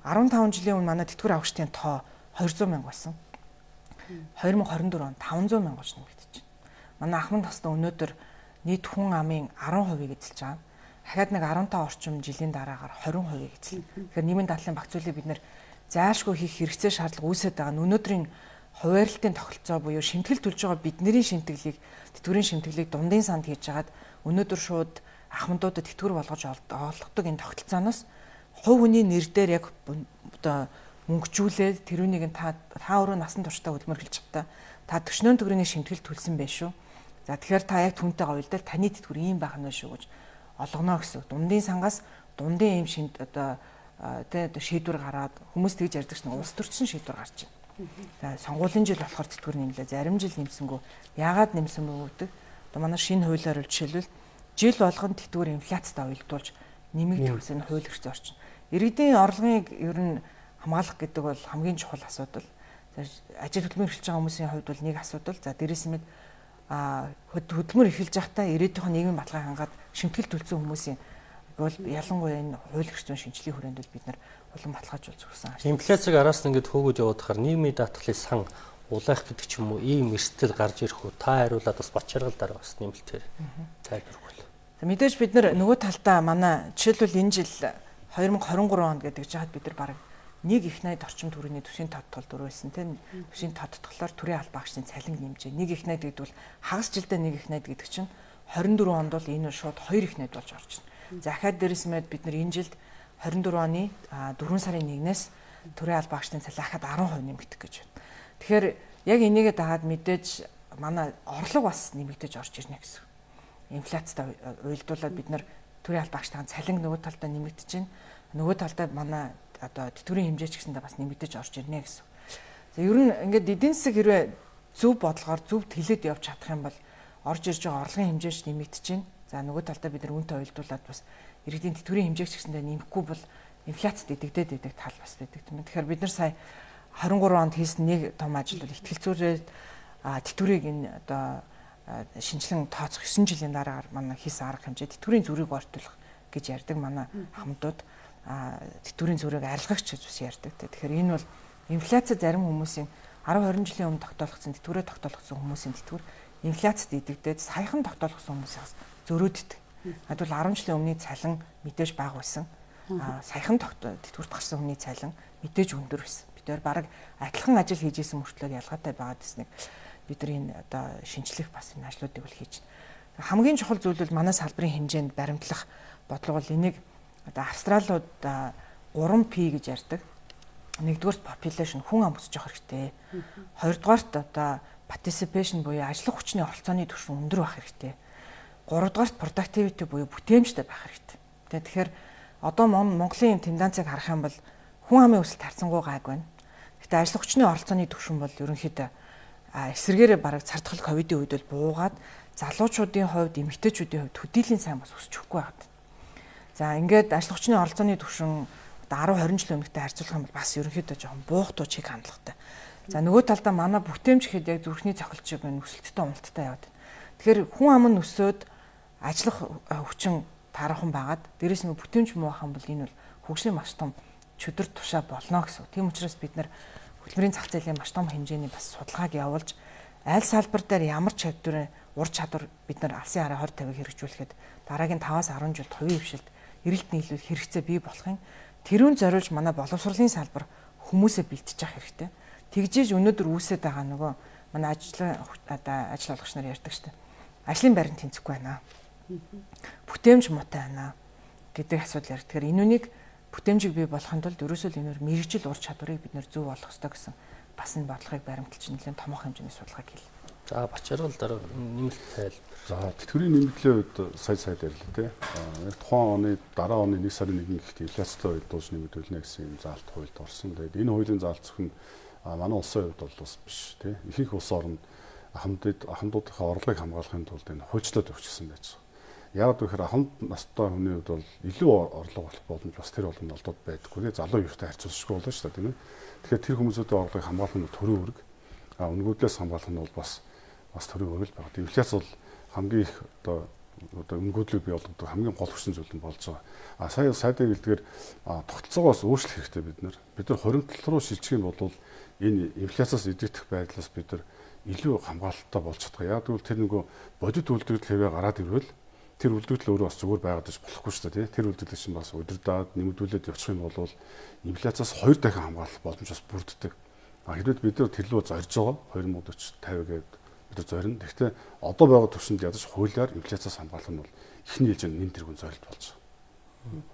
байна. fifteen жилийн өмнө манай тэтгэвэр авагчдын тоо two hundred мянга байсан. twenty twenty-four онд five hundred мянга болж нэмэгдэж байна. Манай ахмад насны өнөөдөр нийт хүн амын ten percent эзэлж байгаа. Дахиад нэг fifteen орчим жилийн дараагаар twenty percent эзэлнэ. Тэгэхээр нийгмийн даатгалын багц хуулийг бид нэр заашгүй хийх хэрэгцээ шаардлага үүсэж байгаа нь өнөөдрийн хуваарлтын тогтолцоо буюу шимтгэл төлж байгаа бидний шимтгэлийг тэтгэврийн шимтгэлийг дундын санд хийж хагаад өнөөдөр шууд ахмадуудад тэтгэвэр болгож олгодог энэ тогтолцооноос хувь хүний нэр дээр яг одоо мөнгөжүүлээд тэрүүнийг та та өөрөө насан туршдаа хөдөлмөр хэлж чадтаа та төчнөөн төгрөгийн шимтгэл төлсөн байх шүү. За тэгэхээр та яг түнтэйгээ уялдал таны тэтгэвэр ийм байх нь шүү гэж олгоно гэсэн. Дундын сангаас дундын ийм шимт одоо тэ шийдвэр гараад хүмүүс тэгж ярьдаг чинь улс төрчин шийдвэр гарч байна. За сонгуулийн жил болохоор тэтгэвэр нэмлээ. Зарим жил нэмсэнгүү. Яагаад нэмсэн бэ гэдэг? Одоо манай шинэ хуулиар жишээлбэл жил болгон тэтгэвэр инфляцтай уялдуулж нэмэгдэх гэсэн хууль хэрэгцээ орчин. Иргэдийн орлогыг ер нь хамгаалах гэдэг бол хамгийн чухал асуудал. Ажил хөдөлмөр эхэлж байгаа хүмүүсийн хувьд бол нэг асуудал. За дээрээс нь а хөдөлмөр эхэлж байхдаа ирээдүйн нийгмийн баталгааг хангаад шимтгэл төлсөн хүмүүсийн бол ялангуяа энэ хууль эрх зүйн шинжилгээ хүрээнд бол бид нар улам баталгаажуулж өгсөн. Инфляцийг араас нь ингээд хөөгөж явуудахаар нийгмийн даатгалын сан улайх гэдэг ч юм уу ийм эрсдэл гарч ирэх үү? Та хариулаад бас Бачаргал дараа бас нэмэлтээр тайлбарлах. За мэдээж бид нар нөгөө талдаа манай жишээлбэл энэ жил две тысячи двадцать три онд гэдэг жаад бид нар бараг нэг их найд орчим төгрөгийн төсвийн тодтгол дөрвөлсэн тийм төсвийн тодтголоор төрийн албан агчдын цалин нэмжээ. Нэг их найд гэдэг бол хагас жилдээ нэг их найд гэдэг чинь двадцать четыре онд бол энэ шууд хоёр их найд болж орж байна. За ахаад дээрээс мэд бид нар энэ жилд двадцать четыре оны дөрвөн сарын нэгнээс төрийн албан агчдын цалин ахаад ten percent нэмэгдэх гэж байна. Тэгэхээр яг энийгээ дагаад мэдээж манай орлого бас нэмэгдэж орж ирнэ гэсэн. Инфляцтай уялдуулаад бид нар төрийн албан агчдын цалин нөгөө талдаа нэмэгдэж байна. Нөгөө талдаа манай одоо тэтгэврийн хэмжээ ч гэсэндээ бас нэмэгдэж орж ирнэ гэсэн. За ер нь ингээд эдийн засаг хэрвээ зөв бодлогоор зөв тэлээд явж чадах юм бол орж ирж байгаа орлогын хэмжээ ч нэмэгдэж байна. За нөгөө талдаа бид нар үнэтэй уялдуулаад бас иргэдийн тэтгэврийн хэмжээ ч гэсэндээ нэмэхгүй бол инфляцид идэгдээд идэг тал бас байдаг тийм. Тэгэхээр бид нар сая двадцать три онд хийсэн нэг том ажил бол ихтгэл зүйрээ тэтгэврийг энэ одоо шинжилэн тооцох нine жилийн дараагаар манай хийсэн арга хэмжээ тэтгэврийн зүрийг ортуулах гэж ярьдаг манай хамтууд тэтгэврийн зүрийг арилгагч гэж бас ярьдаг. Тэгэхээр энэ бол инфляци зарим хүмүүсийн ten twenty жилийн өмнө тогтоолгосон тэтгэврээ тогтоолгосон хүмүүсийн тэтгэвэр инфляцид идэгдээд саяхан тогтоолгосон хүмүүсээс зөрөөддөг. Адвал ten жилийн өмнөний цалин мэдээж бага байсан. Саяхан тэтгэврт гарсан хүний цалин мэдээж өндөр байсан. Бид бараг адилхан ажил хийж исэн мөртлөө ялгаатай байгаа гэснэг бид нар энэ одоо шинжлэх бас энэ ажлуудыг бол хийж байна. Хамгийн чухал зүйл бол манай салбарын хэмжээнд баримтлах бодлого бол энийг одоо австралиуд three P гэж ярьдаг. Нэгдүгээрт population хүн ам өсөж явах хэрэгтэй. Хоёрдугаарт одоо participation буюу ажиллах хүчний оролцооны түвшин өндөр байх хэрэгтэй. Гуравдугаарт productivity буюу бүтээмжтэй байх хэрэгтэй. Тэгэхээр одоо Монголын тенденцийг харах юм бол хүн амын өсөлт харьцангуй гайг байна. Гэхдээ ажиллах хүчний оролцооны түвшин бол ерөнхийдөө эсрэгээрээ бараг цардхал ковидын үед бол буугаад залуучуудын хувьд, эмэгтэйчүүдийн хувьд төдийлэн сайн бас өсөж өгөхгүй байгаад. За ингээд ажиллах хүчний оролцооны түвшин одоо ten twenty жил өмнөдөө харьцуулах юм бол бас ерөнхийдөө жоохон буухтуу чиг хандлагатай. За нөгөө талдаа манай бүтээмж гэхэд яг зүрхний цохилчиг нь өсөлттэй уналттай яваад. Тэгэхээр хүн ам нь өсөөд ажиллах хүчин тархан байгаад дээрэс нь бүтээмж муу хам бол энэ бол хөгжлийн маш том чөдөр тушаа болно гэсэн. Тийм учраас бид нар хөтөлбөрийн зах зээлийн маш том хэмжээний бас судалгааг явуулж аль салбар дээр ямар чадвар, ур чадвар бид нар алсын хараа twenty fifty хэрэгжүүлэхэд дараагийн five-аас ten жилд хувийн хвшилт эрэлт нийлүүлэх хэрэгцээ бий болохын тэрүүн зориулж манай боловсролын салбар хүмүүсээ бэлтжиж явах хэрэгтэй. Тэгжээж өнөөдөр үүсээд байгаа нөгөө манай ажил одоо ажил олгогч нар ярьдаг шүү дээ. Ажлын байранд тэнцэхгүй байна. Бүтээмж муутай байна гэдэг асуудал ярьдаг. Тэгэхээр энүүнийг бүтээмжийг бий болохын тулд ерөөсөө л энээр мэрэгжил ур чадварыг бид нэр зөв болох ёстой гэсэн бас энэ бодлогыг баримталж нэлээд томоохон хэмжээний судалгааг хийлээ. За Бачаргал дараа нэмэлт тайлбар. За тэтгэврийн нэмэгдлийн үед сая сая ярьлаа тий. Яг тухайн оны дараа оны one сарын one гэхэд инфляцтай үед дуус нэмэгдүүлнэ гэсэн юм заалт хуульд орсон. Тэгээд энэ хуулийн заалт зөвхөн манай улсын хувьд бол бас биш тий. Ихэнх улс орнд хамтд хамтуудынхаа орлогыг хамгаалахын тулд энэ хуульчлаад өгчихсөн байж байгаа. Яг тэгэхээр хамт настай хүний хувьд бол илүү орлого болох боломж бас тэр болгонд олдод байдаггүй тий. Залуу юутай харьцуулшгүй болно шүү дээ тийм ээ. Тэгэхээр тэр хүмүүсийн орлогыг хамгаалах нь төрийн үүрэг. А өнгөдлөөс хамгаалах нь бол бас бас төрийн үүрэг байна. Инфляц бол хамгийн их одоо одоо өнгөдлөг бий болгодог хамгийн гол хүчин зүйл нь болж байгаа. А сая сайдын хэлдгээр тогтолцоогоос өөрчлөх хэрэгтэй бид нар. Бид нар хоримтлал руу шилжих юм бол энэ инфляцаас идэгдэх байдлаас бид нар илүү хамгаалалттай болж чадах. Яг тэгвэл тэр нөгөө бодит үйлдвэрлэл хэвээ гараад ирвэл тэр үйлдвэрлэл өөрөө бас зүгээр байгаад иж болохгүй шүү дээ. Тэр үйлдвэрлэл чинь бас удирдаад нэмэгдүүлээд явчих юм бол инфляцаас хоёр дахин хамгаалах боломж бас бүрддэг. А хэрвээ бид нар тэрлүү зорж байгаа twenty forty фifty гэдэг бид зорино. Гэхдээ одоо байгаа төвшөнд ядаж хуулиар инфляцаас хамгаалах нь бол ихний ээлжинд нэн тэргуун зорилт болж байгаа.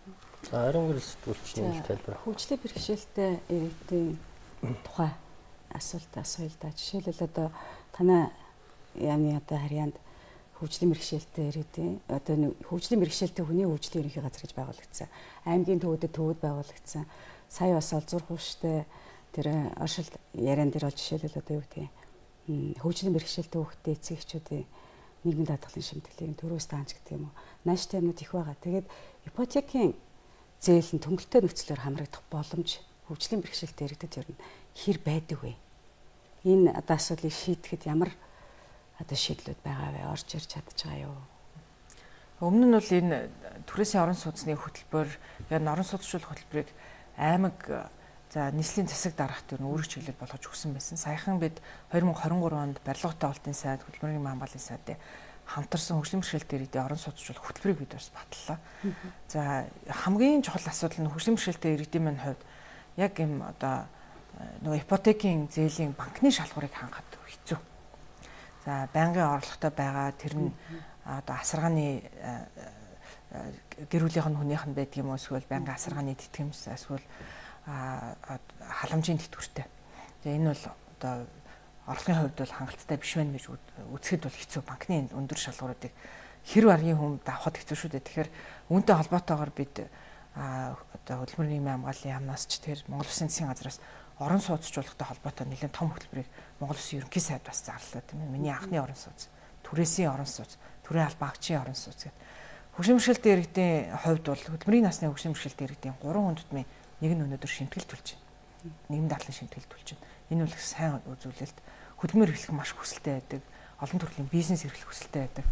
За ариун гэрэл сэтгүүлч нэмэлт тайлбар. Хөгжлийн бэрхшээлтэй иргэдийн тухай асуулт асууя л да. Жишээлбэл одоо танай яамны одоо харьяанд хөгжлийн бэрхшээлтэй иргэдийн одоо хөгжлийн бэрхшээлтэй хүний хөгжлийн ерөнхий газар гэж байгуулагдсан. Аймгийн төвөдөд төвөд байгуулагдсан. Сая бас олзур хууштай тэр оршил яриан дээр бол жишээлбэл одоо юу гэдэг хөгжлийн бэрхшээлтэй хүүхдтэй эцэг эхчүүдийн нийгмийн даатгалын шимтгэлийг төрөөс таанч гэдэг юм уу. Нааштай юмнууд их байгаа. Тэгээд ипотекийн зээл нь төнгөлтэй нөхцлөөр хамрагдах боломж хөгжлийн бэрхшээлтэй иргэдэд ер нь хэр байдаг вэ? Энэ одоо асуудлыг шийдэхэд ямар одоо шийдлүүд байгаа вэ? Орж ирж чадж байгаа юу? Өмнө нь бол энэ түрээсийн орон сууцны хөтөлбөр, яг орон сууцчлуулах хөтөлбөрийг аймаг за нийслэлийн засаг дараах төр нь өөрөг чиглэл болгож өгсөн байсан. Саяхан бид две тысячи двадцать три онд барилгын олтын сайд, хөдөлмөрийн хамгааллын сайдын хамтарсан хөгжлийн бэрхшээлтэй иргэдийн орон сууцчлуулах хөтөлбөрийг бид бас батлаа. За хамгийн чухал асуудал нь хөгжлийн бэрхшээлтэй иргэдийн маань хувьд яг юм одоо нөгөө ипотекийн зээлийн банкны шалгуурыг хангахад хэцүү. За байнгын орлоготой байгаа тэр нь одоо асаргааны гэр бүлийнх нь хүнийх нь байдаг юм уу, эсвэл байнгын асаргааны тэтгэмж, эсвэл халамжийн тэтгэвртэй. Тэгээ энэ бол одоо орлогын хувьд бол хангалттай биш байна гэж үзэхэд бол хэцүү. Банкны өндөр шалгууруудыг хэрв аргийн хүн давхад хэцүү шүү дээ. Тэгэхээр үүнтэй холбоотойгоор бид одоо хөдөлмөрийн хамгааллын яамнаас ч тэр Монгол Улсын засгийн газраас орон сууцчлуулалттай холбоотой нэлээд том хөтөлбөрийг Монгол Улсын ерөнхий сайд бас зарлаа тийм ээ. Миний анхны орон сууц, түрээсийн орон сууц, төрийн албан агчийн орон сууц гэдэг. Хөгжлийн бэрхшээлтэй иргэдийн хувьд бол хөдөлмөрийн насны хөгжлийн бэрхшээлтэй иргэдийн гурван хүндэтмийн нэг нь өнөөдөр шимтгэлтүүлж байна. Нийгэм дадлан шимтгэлтүүлж байна. Энэ бол сайн үзүүлэлт. Хөдөлмөр эрхлэх маш хүсэлтэй байдаг. Олон төрлийн бизнес эрхлэх хүсэлтэй байдаг.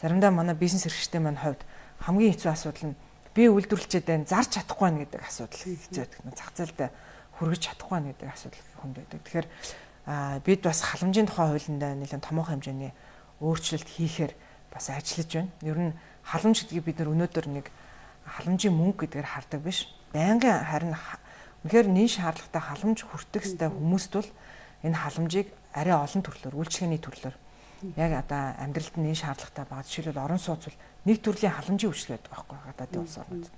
Заримдаа манай бизнес эрхлэгчтэй маань хувьд хамгийн хэцүү асуудал нь би үйлдвэрлэчээд байна, зарж чадахгүй байна гэдэг асуудал хэцүү байдаг. Зах зээлдээ хүргэж чадахгүй байна гэдэг асуудал хүнд байдаг. Тэгэхээр бид бас халамжийн тухай хуулиндаа нэлээд томоохон хэмжээний өөрчлөлт хийхээр бас ажиллаж байна. Ер нь халамж гэдгийг бид нар өнөөдөр нэг халамжийн мөнгө гэдгээр хардаг биш. Байнгын харин үнэхээр нийт шаардлагатай халамж хүртэх ёстой хүмүүст бол энэ халамжийг арай олон төрлөөр, үйлчлэгээний төрлөөр яг одоо амьдралд нь шаардлагатай байгаа. Жишээлбэл орон сууц бол нэг төрлийн халамжийн үйлчлэг байдаг байхгүй гадаадын улс орнууд.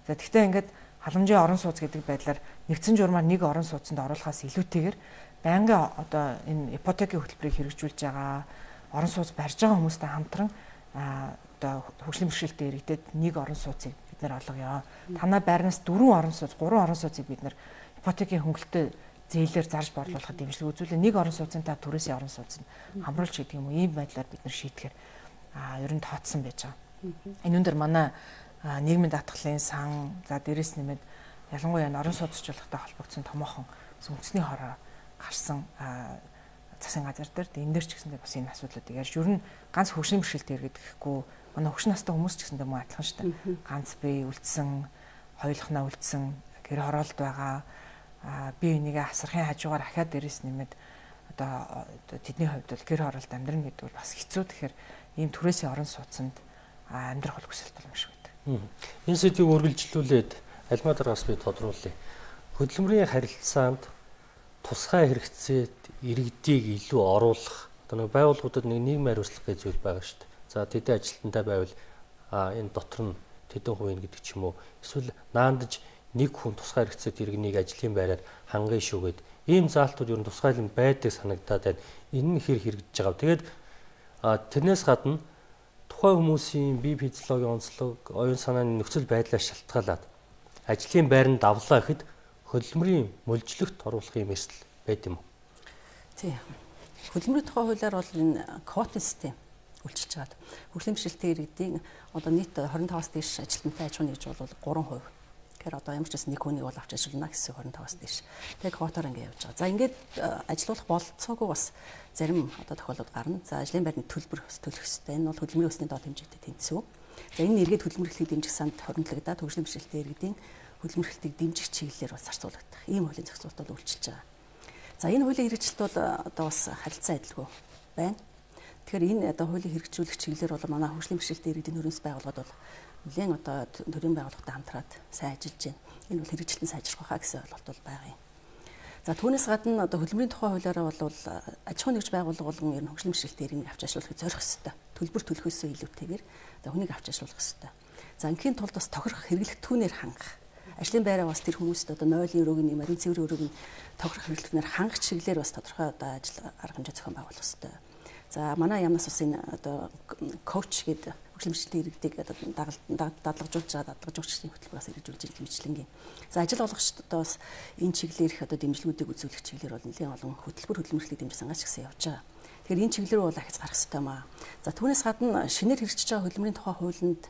За тэгвэл ингээд халамжийн орон сууц гэдэг байдлаар нэгдсэн журмаар нэг орон сууцанд оруулахаас илүүтэйгээр байнгын одоо энэ ипотекийн хөтөлбөрийг хэрэгжүүлж байгаа орон сууц барьж байгаа хүмүүстэй хамтран одоо хөгжлийн бэрхшээлтэй иргэдэд нэг орон сууцыг бид нар олгоё. Танай байрнаас дөрвөн орон сууц, гурван орон сууцыг бид нар ипотекийн хөнгөлөлтөд зээлээр зарж борлуулахад дэмжлэг үзүүлээ. Нэг орон сууцын та түрээсийн орон сууцнд хамруулж гэдэг юм уу? Ийм байдлаар бид нар шийтгэхээр а ер нь тооцсон байж байгаа. Энэ өндөр манай нийгмийн даатгалын сан, за дээрэс нэмээд ялангуяа орон сууцчлуулалттай холбогдсон томоохон үндэсний хороо гарсан засгийн газар дээр энэ дээр ч гэсэндээ бас энэ асуудлуудыг ярьж ер нь ганц хөгжлийн бэрхшээлтэй иргэд гэхгүй манай хөгжин настай хүмүүс ч гэсэндээ мөн адилхан шүү дээ. Ганц бие үлдсэн, хоёулахнаа үлдсэн, гэр хороолд байгаа бие бинийгээ асархын хажуугаар ахаад дээрээс нэмээд одоо тэдний хувьд бол гэр хороолд амьдрна гэдэг бол бас хэцүү. Тэгэхээр ийм түрээсийн орон сууцнд амьдрах бол хүсэлт бол юм шиг байдаг. Энэ сэдвийг үргэлжлүүлээд альма дараас би тодруулъя. Хөдөлмөрийн харилцаанд тусгай хэрэгцээт иргэдийг илүү оруулах одоо нэг байгууллагуудад нэг нийгмийн хариуцлага гэж зүйл байгаа шүү дээ. За тэдний ажилтнтай байвал энэ дотор нь тэдэн хувийн гэдэг ч юм уу эсвэл наандаж нэг хүн тусгай хэрэгцээт иргэнийг ажлын байраар хангая шүүгээд ийм заалтууд ер нь тусгайлан байдаг санагдаад байна. Энэ нь хэр хэрэгжиж байгаа. Тэгээд тэрнээс гадна тухайн хүмүүсийн бие физиологийн онцлог, оюун санааны нөхцөл байдлаас шалтгаалаад ажлын байранд давлаа гэхэд хөдөлмөрийн мөлжлөгт оруулах юм эрсдэл байд юм уу? Тийм. Хөдөлмөрийн тухай хуулиар бол энэ квотын систем үйлчилж байгаа. Хөгжлийн бэрхшээлтэй иргэдийн одоо нийт двадцать пять-аас дээш ажилтнтай аж ахуйн нэгж бол три хувь. Тэгэхээр одоо ямар ч гэсэн нэг хүнийг бол авч ажиллана гэсэн двадцать пять-аас дээш. Тэгээ квотоор ингэ явж байгаа. За ингээд ажилуулах болцоогүй бас зарим одоо тохиолдод гарна. За ажлын байрны төлбөр төлөх ёстой. Энэ бол хөдөлмөрийн өсний доод хэмжээтэй тэнцвүү. За энэ нэргээд хөдөлмөр эрхлэлийг дэмжих санд хоригдлагдаад хөгжлийн бэрхшээлтэй иргэдийн хөдөлмөр эрхлэлийг дэмжих чиглэлээр бас зарцуулагдах. Ийм хуулийн зохицуулалт бол үйлчилж байгаа. За энэ хуулийн хэрэгжилт бол одоо бас харилцан адилгүй байна. Тэгэхээр энэ одоо хуулийн хэрэгжүүлэх чиглэлээр бол манай хөгжлийн бэрхшээлтэй иргэдийн хөрөнгөс байгууллагууд бол нэлээд одоо төрийн байгууллагатай хамтраад сайн ажиллаж байна. Энэ бол хэрэгжилтэн сайжрах хаа гэсэн ойлголт бол байгаа юм. За түүнээс гадна одоо хөдөлмөрийн тухай хуулиараа бол аж ахуйн нэгж байгууллага болгон ер нь хөгжлийн бэрхшээлтэй иргэнийг авч ажиллахыг зорих ёстой. Төлбөр төлөхөөсөө илүүтэйгээр одоо хүнийг авч ажиллах ёстой. За ингийн тулд бас тохирох хэрэглэгдэхүүнээр хангах. Ажлын байраа бас тэр хүмүүст одоо нойлын өрөөг нь, морин цэврийн өрөөг нь тохирох хэрэглэгдэхүүнээр хангах чиглэлээр бас тодорхой одоо ажил арга хэмжээ зохион байгуулах ёстой. За манай яамнаас бас энэ одоо коуч гэдэг хөгжлийн бэрхшээлтэй иргэдийг дадлагжуулж байгаа дадлагжуулагчдын хөтөлбөрөөс хэрэгжүүлж байгаа хэмжлэнгийн. За ажил олгогчдод бас энэ чиглэлээр их одоо дэмжлэгүүдийг үзүүлэх чиглэлээр бол нэлээд олон хөтөлбөр хөдөлмөрлөлийг дэмжих сангаач гэсэн явж байгаа. Тэгэхээр энэ чиглэлээр бол ахиц гарах хэрэгтэй маа. За түүнээс гадна шинээр хэрэгжиж байгаа хөдөлмөрийн тухай хуулинд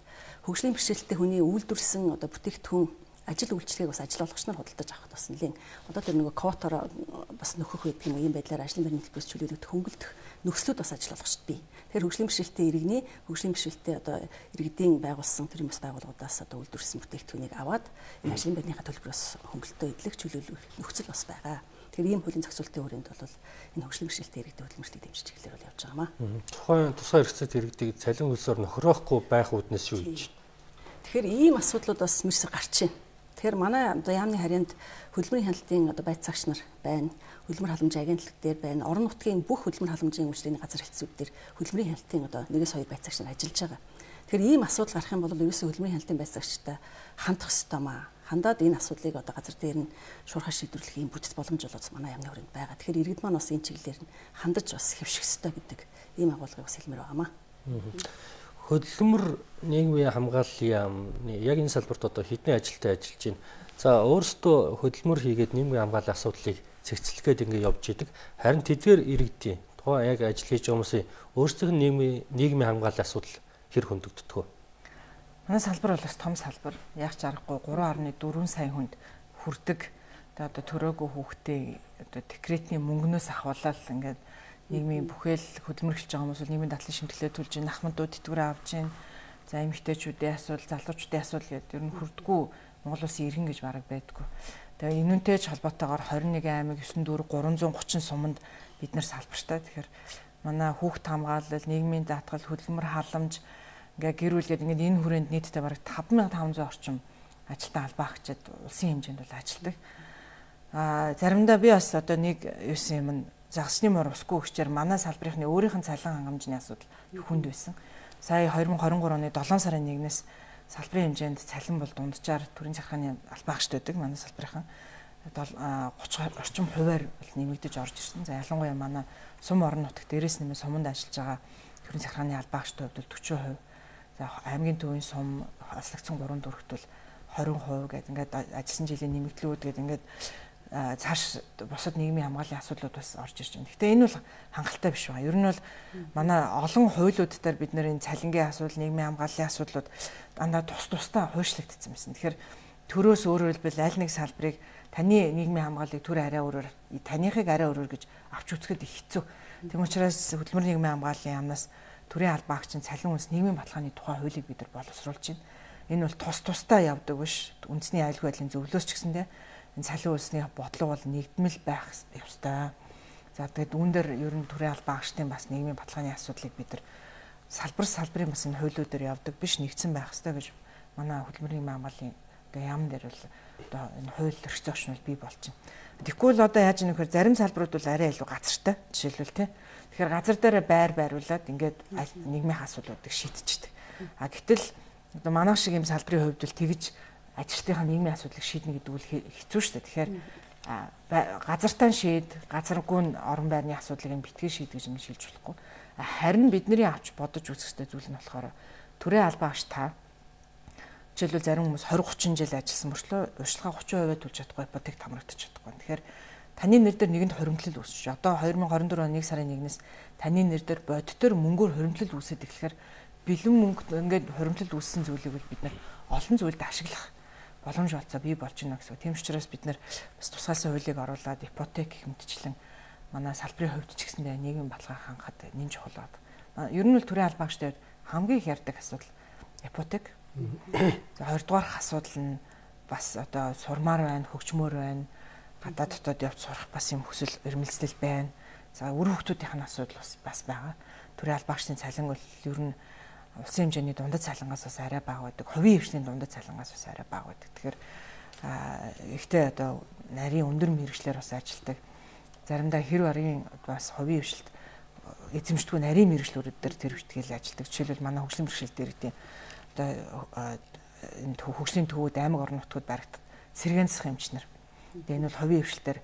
хөгжлийн бэрхшээлтэй хүний үйлдвэрсэн одоо бүтээгдэхүүн ажил үйлчлэгийг бас ажил олгогч нар худалдаж авахд бас нэлээд одоо тэр нөгөө квотоор бас нөхөх байдаг юм ийм байдлаар ажлын байрны төлбөрөөс чөлөөлөгдөх хөнгөлдөх нөхцлүүд бас ажил болгож бий. Тэгэхээр хөгжлийн бэрхшээлтэй иргэний хөгжлийн бэрхшээлтэй одоо иргэдийн байгуулсан тэр юмс байгууллагуудаас одоо үйлдвэрсэн бүтээгдэхүүнийг аваад энэ ажлын байрныхаа төлбөрөөс хөнгөлөлтөө эдлэх чөлөөлөх нөхцөл бас байгаа. Тэгэхээр ийм хуулийн зохицуултын хүрээнд бол энэ хөгжлийн бэрхшээлтэй иргэдэд хөдөлмөрлөлтийг дэмжиж эхлэхээр бол явж байгаамаа. Тухайн тусгай хэрэгцээтэй иргэдийг цалин хөлсөөр нөхрөөхгүй байх үүднээс юу хийж байна? Тэгэхээр ийм асуудлууд бас мэрсэр гарч байна. Тэгэхээр манай одоо яамны харьяанд хөдөлмөрийн хяналтын одоо байц цагч нар байна. Хөдөлмөр халамжийн агентлаг дээр байна. Орон нутгийн бүх хөдөлмөр халамжийн үйлчлэгийн газар хэлтсүүд дээр хөдөлмөрийн хяналтын одоо нэгээс хоёр байц цагч нар ажиллаж байгаа. Тэгэхээр ийм асуудал гарах юм бол ерөөсөө хөдөлмөрийн хяналтын байц цагчтай хандах ёстой маа. Хандаад энэ асуудлыг одоо газар дээр нь шуурхай шийдвэрлэх юм бүтэц боломж болоод манай яамны хүрээнд байгаа. Тэгэхээр иргэд маань бас энэ чиглэлээр нь хандаж бас хэвших ёстой гэдэг ийм агуулгыг бас хэлмээр байгаамаа. Хөдөлмөр нийгмийн хамгааллын яам яг энэ салбарт одоо хэдэн ажилтай ажиллаж байна. За өөрсдөө хөдөлмөр хийгээд нийгмийн хамгааллын асуудлыг цэгцлэхэд ингэ явж идэг. Харин тэдгээр иргэдийн тухайн яг ажил хийж байгаа хүмүүсийн өөрсдийн нийгмийн нийгмийн хамгааллын асуудал хэр хөндөгддөг вэ? Манай салбар бол бас том салбар. Яг ч аргагүй гурван орны дөрвөн сая хүнд хүрдэг. Тэгээ одоо төрөөгүй хүүхдээ одоо декретний мөнгнөөс ахуулаад ингээд нийгмийн бүхэл хөдөлмөр эхэлж байгаа хүмүүс бол нийгмийн дадлын шимтгэлээ төлж ин ахмадууд тэтгэврээ авч ин за эмэгтэйчүүдийн асуудал, залуучуудын асуудал гэдэг ер нь хүрдэггүй Монгол улсын иргэн гэж бараг байдгүй. Тэгээ энүүнтэйч холбоотойгоор хорин нэгэн аймаг ёсон дүүрэг гурван зуун гучин суманд бид нар салбартай. Тэгэхээр манай хүүхд хамгаалал, нийгмийн даатгал, хөдөлмөр халамж ингээ гэр бүлгээд ингээд энэ хүрээнд нийтдээ бараг таван мянган таван зуун орчим ажилтан албаа хчаад улсын хэмжээнд бол ажилдаг. Аа заримдаа би бас одоо нэг юусэн юм нь загсны мөр усгүй өгчээр манай салбарынхны өөрийнх нь цалин хангамжны асуудал хүнд байсан. Сая две тысячи двадцать три оны долоон сарын нэгнээс салбарын хэмжээнд цалин бол дунджаар төрийн захиргааны албаа хчт байдаг манай салбарынхан гуйч орчим хувиар бол нэмэгдэж орж ирсэн. За ялангуяа манай сум орон нутагт дээрээс нэмээ суманд ажиллаж байгаа төрийн захиргааны албаа хчт хувьд бол forty percent. За аймгийн төвийн сум аслагдсан гурван дүрхт бол twenty percent гэдэг ингээд ажилласан жилийн нэмэгдлүүд гэдэг ингээд цааш бусад нийгмийн хамгааллын асуудлууд бас орж ирж байна. Гэхдээ энэ бол хангалттай биш байна. Ер нь бол манай олон хуулиуд дээр бид нэр энэ цалингийн асуудал, нийгмийн хамгааллын асуудлууд дандаа тус тусдаа хуйшлагдсан байсан. Тэгэхээр төрөөс өөрөөр хэлбэл аль нэг салбарыг таны нийгмийн хамгааллыг төр арай өөрөөр, таныхыг арай өөрөөр гэж авч үзэхэд их хэцүү. Тэм учраас хөдөлмөр нийгмийн хамгааллын яамнаас төрийн албаа хчийн цалин үнс нийгмийн баталгааны тухай хуулийг бид нар боловсруулж байна. Энэ бол тус тусдаа явдаг биш. Үндэсний аюулгүй байдлын зөвлөөс ч гэсэндээ энэ цалин үлсний бодлого бол нэгдмэл байх ёстой. За тэгээд үүн дээр ер нь төрийн албаа хчдын бас нийгмийн баталгааны асуудлыг бид нар салбар салбарын бас энэ хуулиудаар явдаг биш, нэгдсэн байх ёстой гэж манай хөдөлмөрийн хамгааллын одоо яам дээр бол одоо энэ хууль эрх зүйн бол бий болж байна. Тэгэхгүй л одоо яаж ийм нөхөр зарим салбарууд бол арай илүү газартай жишээлбэл тий. Тэгэхээр газар дээр байр байруулад ингээд нийгмийн асуудлуудыг шийдчихдэг. А гэтэл одоо манайх шиг ийм салбарын хувьд бол тэгж ажилтныхаа нийгмийн асуудлыг шийднэ гэдэг үл хэцүү шүү дээ. Тэгэхээр газартаа шийд, газаргүй орон байрны асуудлыг битгий шийд гэж юм шилж болохгүй. Харин бидний авч бодож үзэх ёстой зүйл нь болохоор төрийн албаа хч та жишээлбэл зарим хүмүүс twenty thirty жил ажилласан мөрчлөө урьдчилгаа thirty percent төлж чадахгүй ипотек хамрагдаж чадахгүй. Тэгэхээр таны нэр дээр нэгэнт хоримтлал үүсэж. Одоо twenty twenty-four оны нэг сарын нэгнээс таны нэр дээр бодитоор мөнгөөр хоримтлал үүсээд эхлэхээр бэлэн мөнгө ингээд хоримтлал үүссэн зүйлийг бид нар олон зүйлд ашиглах боломж олцоо бий болж байна гэсэн. Тийм учраас бид нар бас тусгайлсан хуулийг оруулаад ипотек хэмтчлэн манай салбарын хувьд ч гэсэндээ нийгмийн баталгаа хангахад нэн чухал байна. Ер нь бол төрийн албаа хчтэй хамгийн их ярддаг асуудал ипотек. За хоёрдугаар асуудал нь бас одоо сурмаар байна, хөгжмөр байна. Гадаад дотоод явж сурах бас юм хүсэл эрмэлзэл байна. За үр хөвгтүүдийн асуудал бас бас байгаа. Төрийн албаа хчдын цалин бол ер нь улсын хэмжээний дундад цалингаас бас арай бага байдаг. Хувийн хвшлийн дундад цалингаас бас арай бага байдаг. Тэгэхээр ихтэй одоо нарийн өндөр мэргэжлэр бас ажилтдаг. Заримдаа хэр баргийн бас хувийн хвшилт эзэмшдэггүй нарийн мэргэжлүүд дээр тэр хвштгэл ажилтдаг. Жишээлбэл манай хөгжлийн бэрхшээл дээр гэдэг одоо энэ хөгжлийн төвүүд аймаг орон нутгад баригдах сэргээн засах эмчнэр. Тэгээ энэ бол хувийн хвшилтээр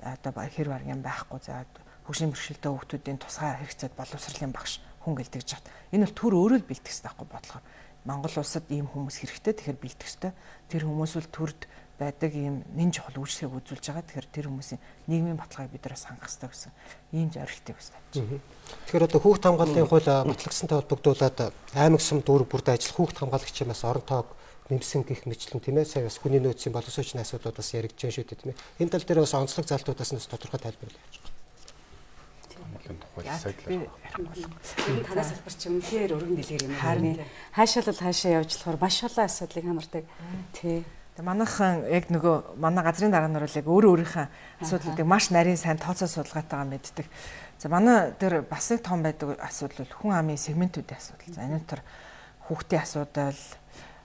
одоо хэр баргийн байхгүй. За хөгжлийн бэрхшээлтэй хүүхдүүдийн тусгай хэрэгцээд боловсролын багш хүн гэлдэж чад. Энэ бол төр өөрөө л бэлтгэх хэрэгтэй байхгүй бодлого. Монгол улсад ийм хүмүүс хэрэгтэй тэгэхээр бэлтгэх хэрэгтэй. Тэр хүмүүс бол төрд байдаг ийм нэн чухал үйлчлэгийг үзүүлж байгаа. Тэгэхээр тэр хүмүүсийн нийгмийн баталгааг бид нараас хангах хэрэгтэй гэсэн ийм зорилтыг бас тавьж. Тэгэхээр одоо хүүхд хамгааллын хууль батлагдсантай холбогдуулаад аймаг сум дүүрэг бүрд ажиллах хүүхд хамгаалагчийн бас орон тоог нэмсэн гэх мэтлэн тийм ээ. Сая бас хүний нөөцийн боловсруучны асуудлууд бас яригдж байгаа шүү дээ тийм ээ. Энэ тал дээр бас онцлог залтуудаас нь тодорхой тайлбарлаж байна. хамгааллын тухай сайдлаа. Энэ танаас салбар чи үнэхээр өргөн дэлгэр юм байна. Хаашаа л хаашаа явж болохоор маш олон асуудлыг хамардаг. Тий. Манайхан яг нөгөө манай газрын дарга нар бол яг өөр өөрийнхөө асуудлуудыг маш нарийн сайн тооцоо судалгаатайгаа мэддэг. За манай дээр бас нэг том байдаг асуудал бол хүн амын сегментүүдийн асуудал. За энэ төр хүүхдийн асуудал,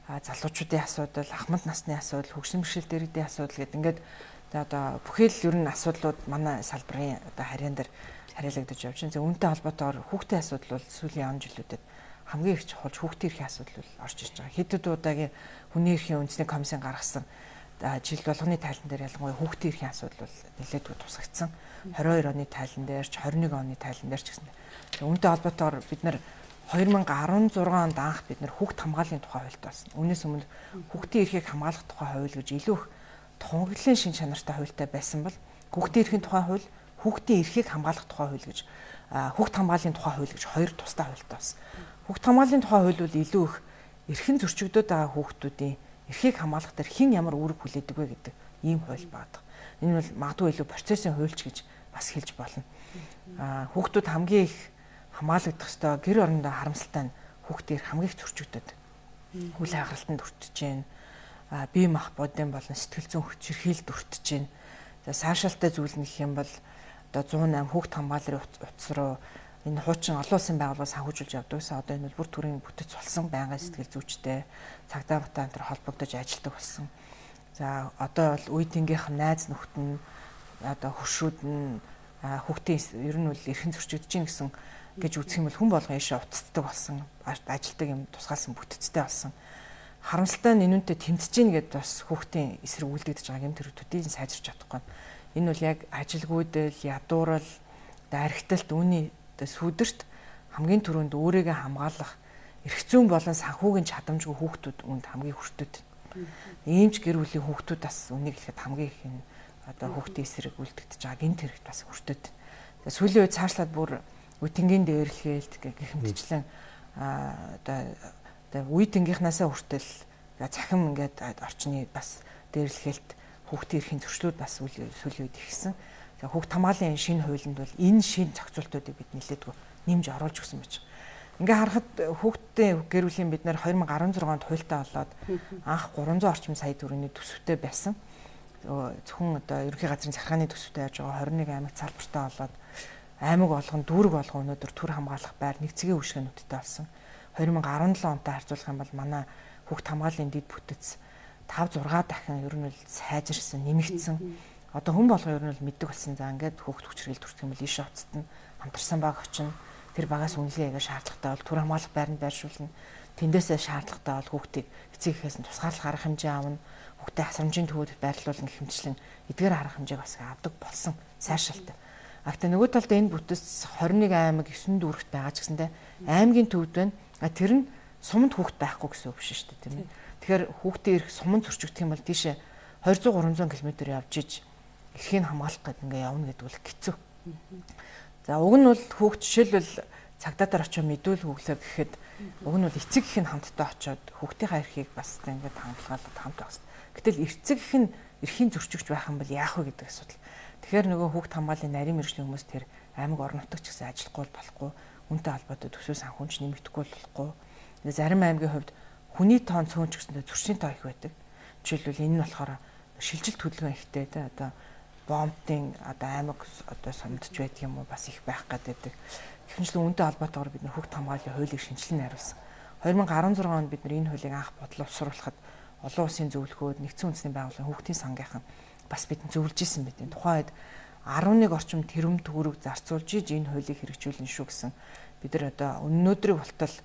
залуучуудын асуудал, ахмад насны асуудал, хөгжлийн бэрхшээлтэй иргэдийн асуудал гэдэг ингээд одоо бүхэл ер нь асуудлууд манай салбарын одоо харьяан дээр хариалагдаж явж байна. За үүнтэй холбоотойгоор хүүхдийн асуудал бол сүүлийн он жилүүдэд хамгийн их чухал хүүхдийн эрхийн асуудал бол орж ирж байгаа. Хэдэн удаагийн хүний эрхийн үндэсний комиссын гаргасан жил болгоны тайлан дээр ялангуяа хүүхдийн эрхийн асуудал бол нэлээдгүй тусгагдсан. двадцать two оны тайлан дээр ч twenty one оны тайлан дээр ч гэсэн. Үүнтэй холбоотойгоор бид нар twenty sixteen онд анх бид нар хүүхд хамгааллын тухай хуульд болсон. Үүнээс өмнө хүүхдийн эрхийг хамгаалах тухай хууль гэж илүү их тунгаглалын шин чанартай хуультай байсан бол хүүхдийн эрхийн тухай хууль, хүүхдийн эрхийг хамгаалах тухай хууль гэж хүүхд хамгааллын тухай хууль гэж хоёр тусдаа хуультай болсон. Хүүхд хамгааллын тухай хууль бол илүү их эрхэн зөрчигдөд байгаа хүүхдүүдийн эрхийг хамгаалах дээр хэн ямар үүрэг хүлээдэг вэ гэдэг ийм хууль байдаг. Энэ бол магадгүй илүү процессын хуульч гэж бас хэлж болно. Аа хүүхдүүд хамгийн их хамгаалагдах ёстой гэр орондоо харамсалтай нь хүүхдийн эрх хамгийн их зөрчигдөд. Хүл хагаралтанд өртөж जैन. Аа бие мах бодин болон сэтгэл зүйн хүчирхийлд өртөж जैन. За сайшаалтай зүйл нь гэх юм бол одоо one oh eight хүүхд хамгааллын утас руу энэ хуучин олон улсын байгууллагаас санхүүжүүлж явдаг гэсэн одоо энэ бол бүр төрийн бүтэц болсон байнгын сэтгэл зүйчтэй цагдаа батаа энэ холбогдож ажилладаг болсон. За одоо бол үе тэнгийнх найз нөхд нь одоо хуршүүд нь хүүхдийн ер нь бол эрхэн зөрчигдөж гин гэсэн гэж үзэх юм бол хүн болгон ийшээ уцтдаг болсон, ажилтдаг юм тусгаалсан бүтэцтэй болсон. Харамсалтай нь энүүнтэй тэмцэж гин гэдээ бас хүүхдийн эсрэг үлдэгдэж байгаа юм төрөтүүдийг сайжирч чадахгүй. Энэ бол яг ажилгүйдэл, ядуурал, даригталт үүний сүдэрт хамгийн түрүүнд өөрийгөө хамгаалах эрх зүйн болон санхүүгийн чадамжгүй хүүхдүүд үүнд хамгийн хүртээд. Иймч гэр бүлийн хүүхдүүд бас үнийг хэлэхэд хамгийн их энэ одоо хүүхдийн эсрэг үлдэгдэж байгаа гинт хэрэгт бас хүртээд. Сүүлийн үед цаашлаад бүр үтэнгийн дээрлэхээлт гэх мэтчлэн одоо одоо үе тэнгийнхнаасаа хүртэл цахим ингээд орчны бас дээрлэхээлт хүүхдийн эрхийн зөрчлүүд бас сүүлийн үед ихсэн. Хүүхд хамгааллын шинэ хуулинд бол энэ шинэ зохицуултуудыг бид нэлээдгүй нэмж оруулж өгсөн байж байгаа. Ингээ харахад хүүхдийн гэр бүлийн бид нэр twenty sixteen онд хуультай болоод анх three hundred орчим сая төгрөгийн төсөвтэй байсан. Зөвхөн одоо ерөнхий газрын захиргааны төсөвтэй яаж байгаа twenty-one аймагт салбартай болоод аймаг болгон дүүрэг болгон өнөөдөр төр хамгаалах байр нэг цэгийн үйлчилгээнүүдтэй болсон. twenty seventeen онтой харьцуулах юм бол манай хүүхд хамгааллын дэд бүтэц five six дахин ер нь л сайжирсан, нэмэгдсэн. Одоо хүн болгоо ер нь л мэддэг болсон. За ингээд хүүхд хүчрэл төрчих юм бол ийшээ уцтна, хамтарсан баг очино. Тэр багаас үнэлгээ яга шаардлагатай бол төр хамгаалах байранд байршуулна. Тэндээсээ шаардлагатай бол хүүхдийг эцэг эхээс нь тусгаарлах арга хэмжээ аавна. Хүүхдээ хасрамжийн төвөд байрлуулна гэх мэтчлэн эдгээр арга хэмжээг бас авдаг болсон сайршилтай. А гэхдээ нөгөө талд энэ бүтэц twenty-one аймаг nine дүүрэгт байгаа ч гэсэндээ аймгийн төвд байна. А тэр нь суманд хүүхд байхгүй гэсэн үг биш шүү дээ, тийм ээ. Тэгэхээр хүүхдийн эрх суманд зөрчигдөх юм бол тийшээ two hundred three hundred км явж иж эрхийг хамгаалах гэдэг ингээ явна гэдэг бол хэцүү. За уг нь бол хүүхд жишээлбэл цагдаа дээр очиж мэдүүл хөглөө гэхэд уг нь бол эцэг их нь хамтдаа очиод хүүхдийнхээ эрхийг бас ингээд хангалгаад хамт байх хэрэгтэй. Гэтэл эцэг их нь эрхийн зөрчигч байх юм бол яах вэ гэдэг асуудал. Тэгэхээр нөгөө хүүхд хамгааллын нарийн мэргэжлийн хүмүүс тэр аймаг орон нутагч гэсэн ажиллахгүй болохгүй, үнтэй холбоотой төсөө санхүүнч нэмэгдэхгүй болохгүй. Зарим аймгийн хувьд хүний тоон цөөнч гэсэндээ зөрчлийн тоо их байдаг. Жишээлбэл энэ нь болохоор шилжилт хөдөлгөөн ихтэй те одоо бомбтын одоо аймаг одоо сомдч байдаг юм уу бас их байх гэдэг. Гэвчлэн үнтэй холбоотойгоор бид нэр хүүхд хамгааллын хуулийг шинжилнэ хариулсан. twenty sixteen онд бид нэр энэ хуулийг анх бодлоо уусруулахад олон улсын зөвлөхөөд нэгдсэн үндэсний байгууллагын хүүхдийн сангийнхан бас бидэнд зөвлөж исэн бид. Тухайн үед eleven орчим тэрбум төгрөг зарцуулж иж энэ хуулийг хэрэгжүүлнэ шүү гэсэн. Бид нар одоо өнөөдрийн болтол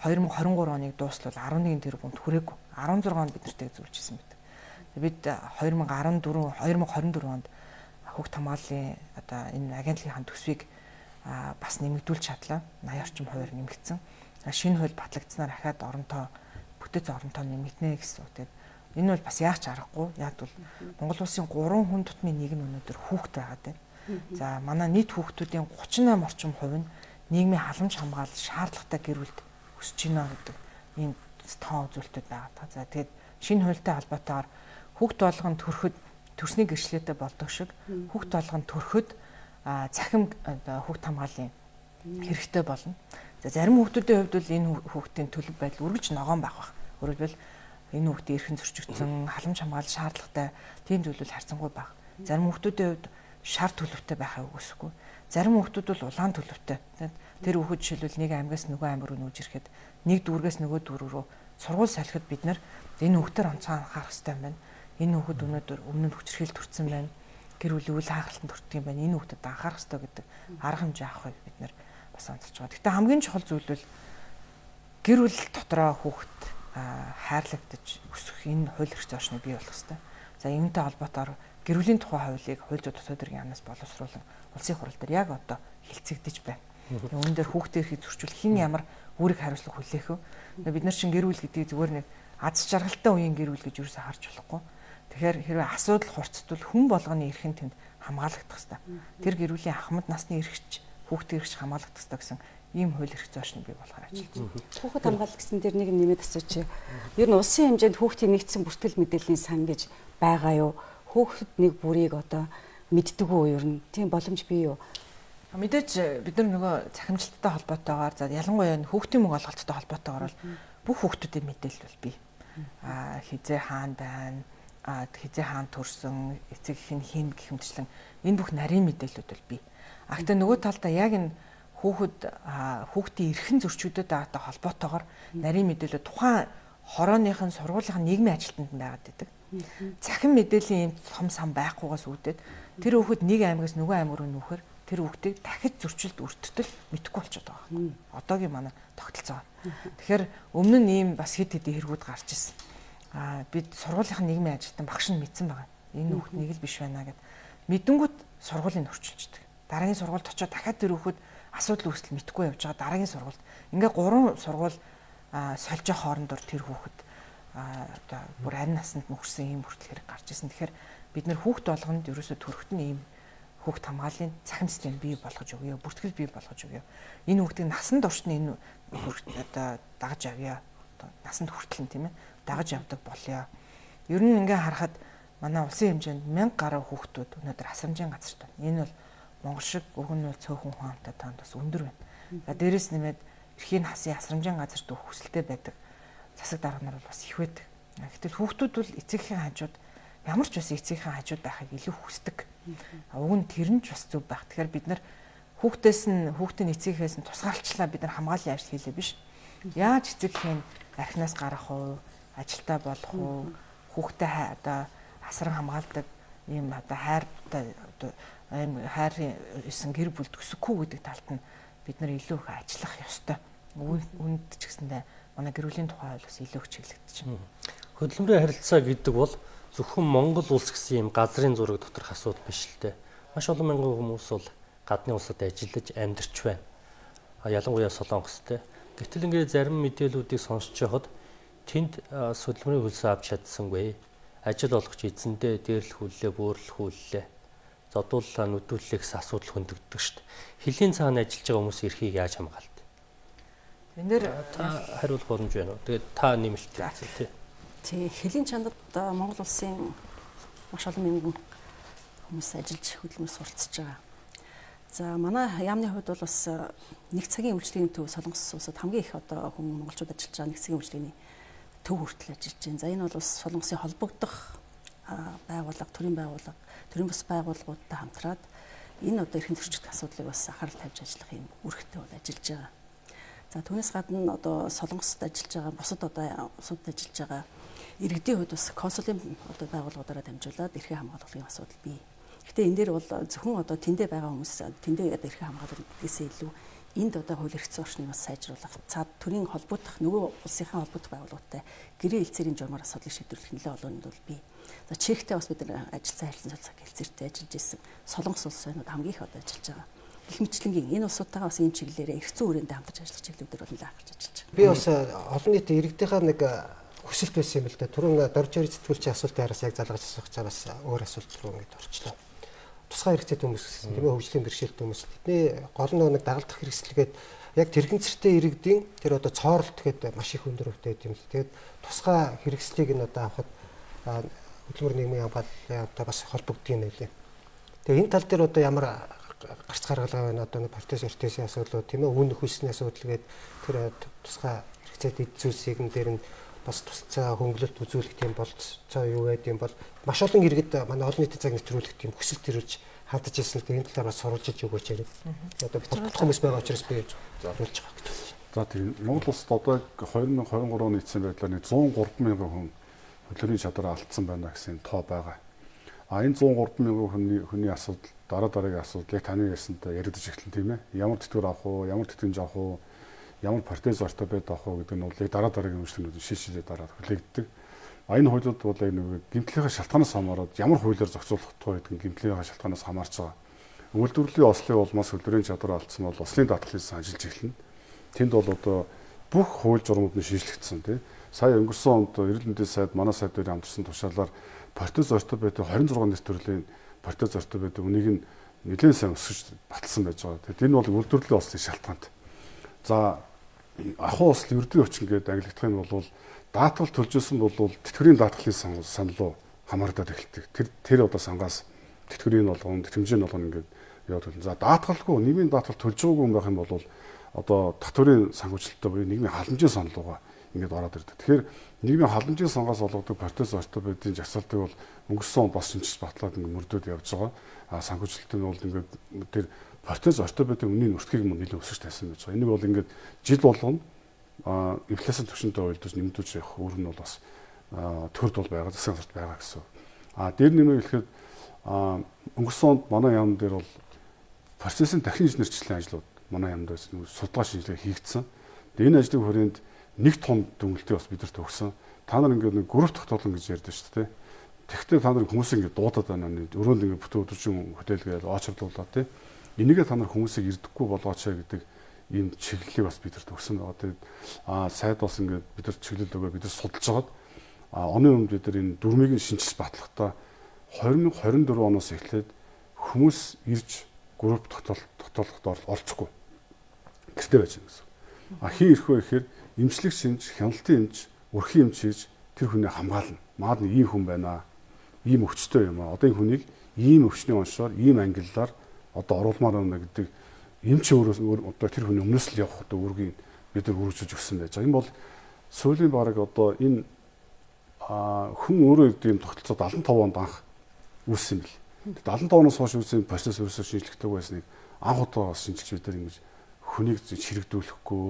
twenty twenty-three оныг дуустал eleven тэрбумд хүрээгүй. sixteen онд бид нартэй зөвлөж исэн бид. Бид twenty fourteen twenty twenty-four онд хүүхд хамгааллын одоо энэ агентлагийн төсвийг бас нэмэгдүүлж чадлаа. eighty орчим хувиар нэмэгдсэн. Шинэ хууль батлагдсанаар ахаад оронтой бүтэц оронтой нэмэгдэнэ гэсэн үг. Тэгээд энэ бол бас яач аргагүй. Яг бол Монгол улсын three хүн тутмын нэг нь өнөөдөр хүүхд байгаад байна. За манай нийт хүүхдүүдийн thirty-eight орчим хувь нь нийгмийн халамж хамгаалал шаардлагатай гэр бүлд өсөж байна гэдэг энэ тоон үзүүлэлтүүд байгаа. За тэгээд шинэ хуультай холбоотойгоор хүүхд болгон төрөхөд төрсний гэрчлэлтэй болдог шиг хүүхд болгон төрөхөд цахим одоо хүүхд хамгааллын хэрэгтэй болно. За зарим хүүхдүүдийн хувьд бол энэ хүүхдийн төлөв байдал үргэлж ногоон байх бах. Өөрөлдвөл энэ хүүхдийн эрхэн зөрчигдсөн халамж хамгаалал шаардлагатай тийм зүйл харьцангуй бага. Зарим хүүхдүүдийн хувьд шар төлөвтэй байхаа үгүйсэхгүй. Зарим хүүхдүүд бол улаан төлөвтэй. Тэр хүүхэд жишээлбэл нэг аймгаас нөгөө аймаг руу нүүж ирэхэд нэг дүүргээс нөгөө дүүр рүү сургууль солиход бид нар энэ хүүхдээр онцгой анхаарах хэрэгтэй юм байна. Энэ хүүхэд өнөөдөр өмнө нь хүчирхийлэл төрсэн байна. Гэр бүлийн үйл хагаралтанд хүрдэг юм байна. Энэ хүүхдэд анхаарах хэрэгтэй гэдэг арга хэмжээ авахыг бид нар бас онцолж байгаа. Гэхдээ хамгийн чухал зүйл бол гэр бүл дотроо хүүхэд хайрлагдаж өсөх энэ хууль эрх зүйн орчныг бий болгох хэрэгтэй. За үүнтэй холбоотойгоор гэр бүлийн тухай хуулийг хууль зүйн дотоод хэргийн яамнаас боловсруулан улсын хурал дээр яг одоо хилцэгдэж байна. Үүн дээр хүүхдийн эрхийг зөрчил хэн ямар үүрэг хариуцлага хүлээх вэ? Бид нар чинь гэр бүл гэдгийг зүгээр нэг аз жаргалтай үеийн гэр бүл гэж юу ч харж болохгүй. Тэгэхээр хэрвээ асуудал хурцтвол хүн болгоны эрх нь тэнд хамгаалагдах хэрэгтэй. Тэр гэр бүлийн ахмад насны эрхч хүүхдийн эрхч хамгаалагдах хэрэгтэй гэсэн ийм хууль эрх зүйн орчныг бий болгохоор ажиллаж байна. Хүүхэд хамгаалалт гэсэн дээр нэг нэмээд асууч. Ер нь улсын хэмжээнд хүүхдийн нэгдсэн бүртгэл мэдээллийн сан гэж байгаа юу? Хүүхэд нэг бүрийг одоо мэддэг үү ер нь? Тийм боломж бий юу? Мэдээж бид нар нөгөө цахимжилттай холбоотойгоор за ялангуяа хүүхдийн мөнгө олголттой холбоотойгоор бүх хүүхдүүдийн мэдээлэл бол бий. Аа хизээ хаана байна? А хизээ хаан төрсөн эцэг их нь хин гэх мэтчлэн энэ бүх нарийн мэдээлэлүүд бол бий. А гэхдээ нөгөө талдаа яг энэ хүүхэд хүүхдийн эрхэн зөрчигдөд байгаатай холбоотойгоор нарийн мэдээлэл тухайн хорооныхын сургуулийн нийгмийн ажилтнанд байгаад байдаг. Цахим мэдээллийн юм том сан байхгүйгаас үүдээд тэр хүүхэд нэг аймагаас нөгөө аймаг руу нүүхээр тэр хүүхдийг дахиж зөрчилд өртөлтөл мэдэхгүй болчиход байгаа. Одоогийн манай тогтолцоо. Тэгэхээр өмнө нь ийм бас хэд хэдийн хэрэгүүд гарч ирсэн. А бид сургуулийн нийгмийн ажилтан багш нь мэдсэн байгаа. Энэ хүүхд нэг л биш байна гэд мэдэнгүүт сургуулийг орчилждаг. Дараагийн сургуульд очиод дахиад тэр хүүхд асуудал үүсэл мэдэхгүй явж байгаа. Дараагийн сургуульд ингээ гурван сургууль сольж явах хоорондор тэр хүүхд одоо бүр арин насанд нөхөрсөн ийм хүртэл хэрэг гарч ирсэн. Тэгэхээр бид нэр хүүхд болгонд ерөөсө төрөхт нь ийм хүүхд хамгааллын цахим систем бий болгож өгье, бүртгэл бий болгож өгье. Энэ хүүхдийг насанд орчны энэ одоо дагаж авъя. Насанд хүртэл нь тийм ээ дагаж явдаг болёо. Ер нь ингээ харахад манай улсын хэмжээнд мянга гаруй хүүхдүүд өнөөдөр асрамжийн газарт байна. Энэ бол Монгол шиг өгөн нь цөөхөн хүн амтай танд бас өндөр байна. За дээрэс нэмээд эрхийн хасын асрамжийн газарт өгөх хүсэлтэй байдаг засаг дарга нар бол бас их байдаг. Гэтэл хүүхдүүд бол эцэгхийн хажууд ямар ч бас эцэгхийн хажууд байхыг илүү хүсдэг. Уг нь тэр нь ч бас зөв байх. Тэгэхээр бид нар хүүхдээс нь хүүхдийн эцэгхээс нь тусгаалчлаа бид нар хамгааллын ажил хийлээ биш. Яаж эцэгхийн архинаас гарах уу? Ажилтаа болох уу, хүүхдээ одоо асран хамгаалдаг ийм одоо хайртай одоо ийм хайрын эсэн гэр бүл төсөхгүй гэдэг талд нь бид нар илүү их ажиллах ёстой. Үүнд ч гэсэндээ манай гэр бүлийн тухай бол бас илүү их чиглэгдэж байна. Хөдөлмөрийн харилцаа гэдэг бол зөвхөн Монгол улс гэсэн ийм газрын зураг доторх асуудал биш л дээ. Маш олон мянган хүмүүс бол гадны улсад ажиллаж амьдарч байна. А ялангуяа Солонгостэй. Гэтэл ингээд зарим мэдээллүүдийг сонсч байхад тэнд хөдөлмөрийн хөлсөө авч чадсангүй. Ажил олгож эзэндээ дээрлэхүүллээ, бөөрлөхүүллээ. Зодууллаа нүдүүллээ гэсэн асуудал хөндөгддөг шүү дээ. Хилийн цаана ажиллаж байгаа хүмүүс эрхийг яаж хамгаалт? Энэ дээр та хариулах боломж байна уу? Тэгээд та нэмэлт хийх тий. Тий, хилийн чандад Монгол улсын маш олон мянган хүмүүс ажиллаж хөдөлмөр суралцж байгаа. За манай яамны хувьд бол бас нэг цагийн үйлчлэгийн төв Солонгос улсад хамгийн их одоо хүмүүс монголчууд ажиллаж байгаа нэг цагийн үйлчлэгийн төв хүртэл ажиллаж байна. За энэ бол бас Солонгосын холбогдох байгууллага, төрийн байгууллага, төрийн бас байгууллагуудтай хамтраад энэ одоо эрхэм зөрчилдөх асуудлыг бас анхаарал тавьж ажиллах юм үүрэгтэй бол ажиллаж байгаа. За түүнээс гадна одоо Солонгосд ажиллаж байгаа, бусад одоо улсуудад ажиллаж байгаа иргэдийн хувьд бас консулын одоо байгууллагуудаараа дамжуулаад эрхээ хамгаалахын асуудал бий. Гэхдээ энэ дээр бол зөвхөн одоо тэндээ байгаа хүмүүс тэндээ одоо эрхээ хамгаалах гэдгээсээ илүү энд одоо хууль эрх зүйн орчныг бас сайжруулах, цаад төрийн холбогдох нөгөө улсынхаа холбогдох байгууллагатай гэрээ хэлцээрийн журмаар асуудлыг шийдвэрлэх нэлээд олон нь бол бий. За Чехтэй бас бид нар ажилтсан харилцан цаг хэлцээртэй ажиллаж ирсэн. Солонгос улс байна хамгийн их одоо ажиллаж байгаа. Гэх мэтлэнгийн энэ улсуудтайгаа бас энэ чиглэлээр эрх зүйн хүрээндээ хамтарч ажиллах чиглэлүүдээр бол нэлээд анхаарч ажиллаж байгаа. Би бас олон нийтийн иргэдийнхаа нэг хүсэлт байсан юм л да. Түрүүн дорж ирж сэтгүүлчийн асуултын араас яг залгаж асуух цаа бас өөр асуулт руу ингэж орчлоо. Тусгай хэрэгцээ хүмүүс гэсэн тийм ээ хөгжлийн бэрхшээлтэй хүмүүс тэдний гол нь нэг дагалдах хэрэгслэгээд яг тэрэгцэртэй иргэдийн тэр одоо цооролт гэдэг маш их өндөр өвтэй юм л. Тэгээд тусгай хэрэгслийг нь одоо авахд хөдөлмөр нийгмийн хамгааллын одоо бас холбогддог юм байлээ. Тэгээ энэ тал дээр одоо ямар гарц гаргалгаа байна одоо нэг протез ортезийн асуудлууд тийм ээ үн нөхөсний асуудал гээд тэр тусгай хэрэгцээтэй зүйлсийг н дээр нь бас тусцаа хөнгөлөлт үзүүлэх тийм болцоо юу байд юм бол маш олон иргэд манай олон нийтийн цаг нэвтрүүлэх тийм хүсэл төрүүлж хадаж ирсэн л энэ талаар бас сурвалжиж өгөөч яриад. Одоо болох хүмүүс байгаа учраас би зориулж байгаа гэж байна. За тийм Монгол улсад одоо две тысячи двадцать три оны эцсийн байдлаар нэг one oh three мянган хүн хөдөлгөөний чадвараа алдсан байна гэсэн тоо байгаа. А энэ one oh three мянган хүний хүний асуудал дараа дараагийн асуудал яг таны ярьсантай яригдж эхэлнэ тийм ээ. Ямар тэтгэвэр авах уу, ямар тэтгэмж авах уу, ямар протез ортопед авах уу гэдэг нь бол яг дараа дараагийн үйлчлэгнүүд шийдшилээ дараа хүлээгддэг. А энэ хуулиуд бол яг нэг гэмтлийнхаа шалтгаанаас хамаараад ямар хуулиар зохицуулах туу гэдэг нь гэмтлийнхаа шалтгаанаас хамаарч байгаа. Үйлдвэрлэлийн ослын улмаас хөдөлгөөний чадвар алдсан бол ослын даатгалыг ажиллаж эхэлнэ. Тэнд бол одоо бүх хууль журмууд нь шийдлэгдсэн тийм. Сая өнгөрсөн онд эрүүл мэндийн сайд манай сайд дээр хамтарсан тушаалаар протез ортопед twenty-six нэр төрлийн протез ортопед үнийг нь нэлээд сайн өсгөж баталсан байж байгаа. Тэгэхээр энэ бол үйлдвэрлэлийн ослын шалтгаант. За ахуй осл ердийн хүчин гэдэг ангилагдах нь бол даатгал төлж исэн бол тэтгэврийн даатгалын санал руу хамаардаад эхэлдэг. Тэр тэр одоо сангаас тэтгэврийн болгоно, тэтгэмжийн болгоно ингээд яваад байна. За даатгалгүй нийгмийн даатгал төлж байгаагүй юм байх юм бол одоо татврын санхүүжилттэй буюу нийгмийн халамжийн санал руугаа ингээд ороод ирдэг. Тэгэхээр нийгмийн халамжийн сангаас олгодог протез ортопедийн жагсаалтыг бол өнгөрсөн онд бас шинжилж батлаад ингээд мөрдөд явж байгаа. А санхүүжилттэй нь бол ингээд тэр протез ортопедийн үнийн өртгийг мөн нэлээд өсөж тайсан байж байгаа. Энийг бол ингээд жил болгоно а инфляцийн түвшинтэй уялдаж нэмэгдүүлж явах үүрэг нь бол бас төрд бол байгаа, засгийн газарт байгаа гэсэн. А дээр нэмээ хэлэхэд өнгөрсөн онд манай яамн дээр бол процессын дахин инженерчлэлийн ажлууд манай яамд судалгаа шинжилгээ хийгдсэн. Энэ ажлын хүрээнд нэг том дүнэлтийг бас бидэрт өгсөн. Та нар ингээд нэг групп тогтоолно гэж ярьдэн шүү дээ. Тэгвэл та нар хүмүүсийг ингээд дуудаад байна. Өрөөнд ингээд бүтэн өдөржин хотелгээд очрлуулаад тий. Энийгээ та нар хүмүүсийг ирдэхгүй болгооч гэдэг ийм чиглэлийг бас бидэрт өгсөн байгаа. Тэгээд аа сайд бас ингээд бидэрт чиглэл өгөө бид нар судалж хагаад а оны өмнө бид нар энэ дүрмийг нь шинжилж батлахдаа twenty twenty-four оноос эхлээд хүмүүс ирж групп тогтоолоход орцохгүй гэртээ байж байгаа гэсэн. А хин ирэх вэ гэхээр эмчлэг шинж, хяналтын эмч, өрхийн эмч хийж тэр хүнийг хамгаална. Маад нэг ийм хүн байна. Ийм өвчтөй юм аа. Одоо энэ хүнийг ийм өвчний онцоор, ийм ангиллаар одоо оруулмаар байна гэдэг эмч өөрөөс одоо тэр хүний өмнөөс л явах одоо үүргийг бид нар үргэлжлүүлж өгсөн байж байгаа. Энэ бол сүүлийн бараг одоо энэ хүн өөрөө ийм тогтолцоо seventy-five онд анх үүссэн юм бэл. seventy-five оноос хойш үүссэн процесс ерөөсөө шинжлэхтэй байсныг анх удаа шинжилж бид нар ингэж хүнийг чирэгдүүлэхгүй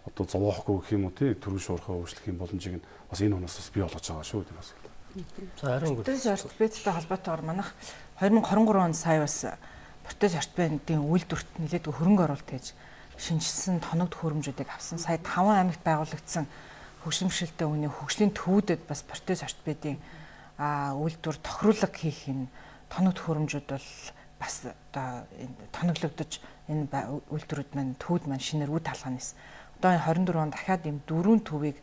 одоо зовоохгүй гэх юм уу тий төрөн шуурхаа өөрчлөх юм боломжийг нь бас энэ оноос бас бий болгож байгаа шүү дээ бас. За харин протез ортопедтэй холбоотойгоор манайх twenty twenty-three онд сая бас протез ортопедийн үйлдвэрт нэлээдгүй хөрөнгө оруулалт хийж шинжилсэн тоногд хөрөмжүүдийг авсан. Сая five аймагт байгуулагдсан хөгжимшилтэй үний хөгжлийн төвүүдэд бас протез ортопедийн үйлдвэр тохируулга хийх энэ тоногд хөрөмжүүд бол бас одоо тоноглогдож энэ үйлдвэрүүд маань төвд маань шинээр үд талханаас одоо twenty-four онд дахиад ийм дөрвөн төвийг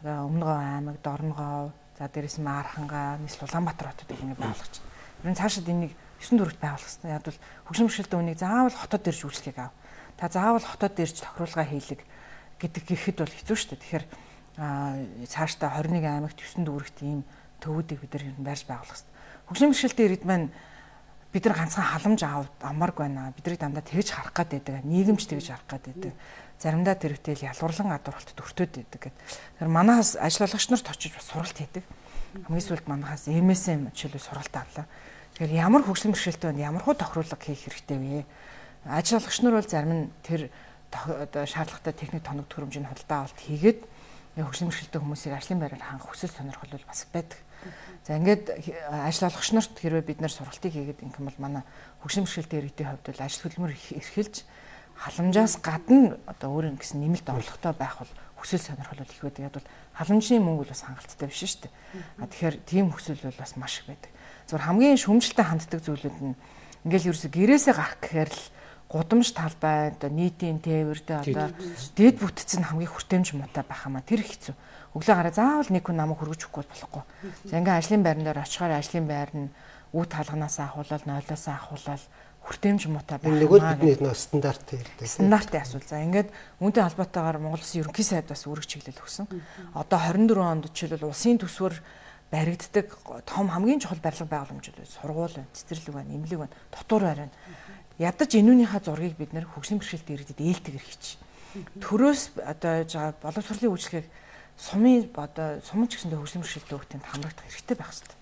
Өмнөгов аймаг, Дорногов, за дээрээс нь Архангаа, нийслэл Улаанбаатар хотод ингэ байгуулгач. Ер нь цаашид энийг нine дөрөвт байгуулах хэрэгтэй. Яг бол хөгжимшилтэй үнийг заавал хотод ирж үйлчлэгийг ав. Та заавал хотод ирж тохируулга хийлэг гэдэг гэхэд бол хэцүү шүү дээ. Тэгэхээр цаашдаа twenty-one аймагт nine дүүрэгт ийм төвүүдийг бид нар барьж байгуулах хэрэгтэй. Хөгжимшилтэй иргэд маань бид нар ганцхан халамж авмарг байна. Бидний дандаа тэгж харах гад байдаг. Нийгэмч тэгж харах гад байдаг. Заримдаа тэрвтэл ялварлан гадуурхалт өртөөд байдаг гэдэг. Тэгэхээр манаас ажиллагч нарт очиж бас сургалт хийдэг. Хамгийн сүүлд манахаас эм эс эм жишээлбэл сургалт авлаа. Тэгэхээр ямар хөгжлийн бэрхшээлтэй байна, ямар хуу тохируулга хийх хэрэгтэй вэ? Ажиллагч нар бол зарим нь тэр одоо шаардлагатай техник тоног төхөөрөмжийн худалдаа авалт хийгээд хөгжлийн бэрхшээлтэй хүмүүсийг ажлын байраар хангах хүсэл сонирхол бол бас байдаг. За ингээд ажиллагч нарт хэрвээ бид нэр сургалтыг хийгээд ингэм бол манай хөгжлийн бэрхшээлтэй иргэдийн хувьд бол ажил хөдөлмөр эрхэлж халамжаас гадна одоо өөр ингэсэн нэмэлт орлоготой байх бол хүсэл сонирхол бол их байдаг. Яг бол халамжны мөнгө бол бас хангалттай биш шүү дээ. А тэгэхээр тийм хүсэл бол бас маш их байдаг. Зөвхөн хамгийн шүүмжлэлтэй ханддаг зүйлүүд нь ингээл ерөөсө гэрээсээ гарах гэхээр л гудамж талбай одоо нийтийн тээвэрдээ одоо дэд бүтцэн хамгийн хүртээмж муутай байх юм а тэр хэцүү. Өглөө гараа заавал нэг хүн намайг хөргөж өгөхгүй болохгүй. За ингээл ажлын байран дээр очихоор ажлын байр нь үе талганаас ахуулаад нойлоос ахуулаад хүртээмж муутай байх. Нөгөө бидний нөө стандарт гэдэг. Стандартын асуул. За ингээд үүнтэй холбоотойгоор Монгол Улсын ерөнхий сайд бас үүрэг чиглэл өгсөн. Одоо twenty-four онд жишээлбэл улсын төсвөр баригддаг том хамгийн чухал барилга байгууламжууд сургууль байна, цэцэрлэг байна, эмнэлэг байна, дотор байна. ядаж энүүнийхээ зургийг бид нэр хөгжлийн бэрхшээлтэй иргэдэд ээлтгэр хийчих. Төрөөс одоо боловсролын үйлчлэгийг сумын одоо сумын ч гэсэндээ хөгжлийн бэрхшээлтэй хүүхдэд хамрагдах хэрэгтэй байх хэрэгтэй.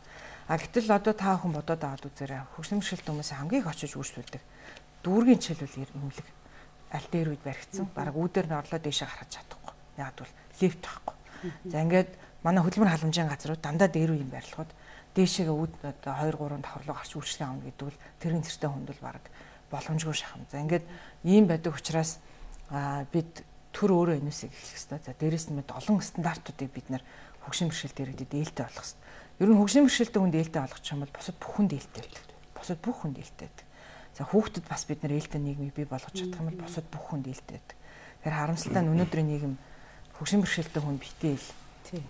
А гэтэл одоо та бүхэн бодоод аваад үзээрэй. Хөгжлийн бэрхшээлтэй хүмүүсийн хамгийн их очиж үйлчлүүлдэг дүүргийн жишээлбэл имлэг аль дээр үед баригдсан. Бараг үүдээр нь орлоо дээшээ гаргаж чадахгүй. Яг бол лифт байхгүй. За ингээд манай хөдөлмөр халамжийн газрууд дандаа дээр үеийн барилгууд дээшээгээ үүд одоо хоёр гурван давхар руу гарч үйлчлэг авна гэдэг бол тэрийн зэрэгтэй хүнд бол бараг боломжгүй шахам. За ингээд ийм байдаг учраас бид төр өөрөө энэсийг эхлэх хэрэгтэй. За дээрэс нь мэд олон стандартуудыг бид нэр хөгжлийн бэрхшээлтэй иргэдэд ээлтэй болгох хэрэгтэй. Ер нь хөгжлийн бэрхшээлтэй хүнд ээлтэй болгох юм бол бусад бүх хүнд ээлтэй байдаг. Бусад бүх хүнд ээлтэй байдаг. За хүүхдэд бас бид нэр ээлтэй нийгмийг бий болгож чадах юм бол бусад бүх хүнд ээлтэй байдаг. Тэгэхээр харамсалтай нь өнөөдрийн нийгэм хөгжлийн бэрхшээлтэй хүн битээ ил.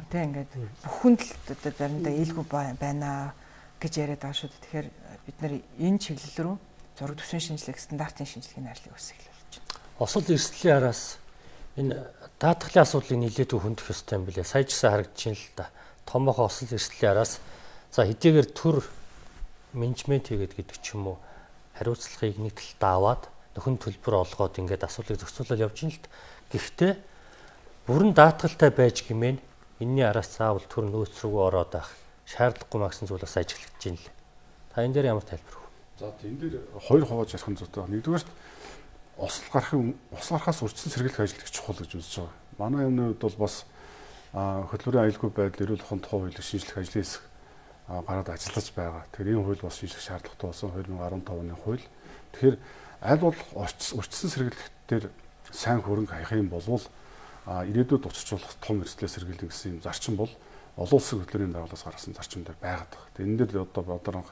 Тэ ингээд бүх хүнд л одоо заримдаа ээлгүй байна гэж яриад байгаа шүү дээ. Тэгэхээр бид нэр энэ чиглэл рүү зураг төсвийн шинжилгээ, стандартын шинжилгээний ажлыг үсгэх болж байна. Осол эрсдлийн араас энэ даатгалын асуудлыг нэлээд хөндөх ёстой юм билээ. Сая ч гэсэн харагдчихээн л та. Томоохон осол эрсдлийн араас за хэдийгээр төр менежмент хийгээд гэдэг ч юм уу хариуцлагыг нэг талд аваад нөхөн төлбөр олгоод ингээд асуудлыг зохицуулаад явж ин л гэхдээ бүрэн даатгалтай байж гэмээн энэний араас заавал төр нөөц рүү ороод байх шаардлагагүй магсан зүйл бас ажиглагдаж байна л. Та энэ дээр ямар тайлбар вэ? За энэ дээр хоёр хувааж ярих нь зүйтэй. Нэгдүгээр осол гарахын осол гарахаас урьдчилан сэргийлэх ажил их чухал гэж үзэж байгаа. Манай юмны хувьд бол бас хөдөлмөрийн аюулгүй байдал эрүүл ухаан тухай хуулийг шинжлэх ажлын хэсэг гараад ажиллаж байгаа. Тэгэхээр энэ хууль бас шинжлэх шаардлагатай болсон хоёр мың арван тавын оны хууль. Тэгэхээр аль бол урьдчилан сэргийлэх дээр сайн хөрөнгө хаях юм болвол ирээдүйд уцчлуулах том эрсдлээ сэргийлнэ гэсэн юм зарчим бол олон улсын хөтөлбөрийн байгууллагаас гаргасан зарчим дээр байгаад байна. Тэгээ энэ дээр одоо бодрон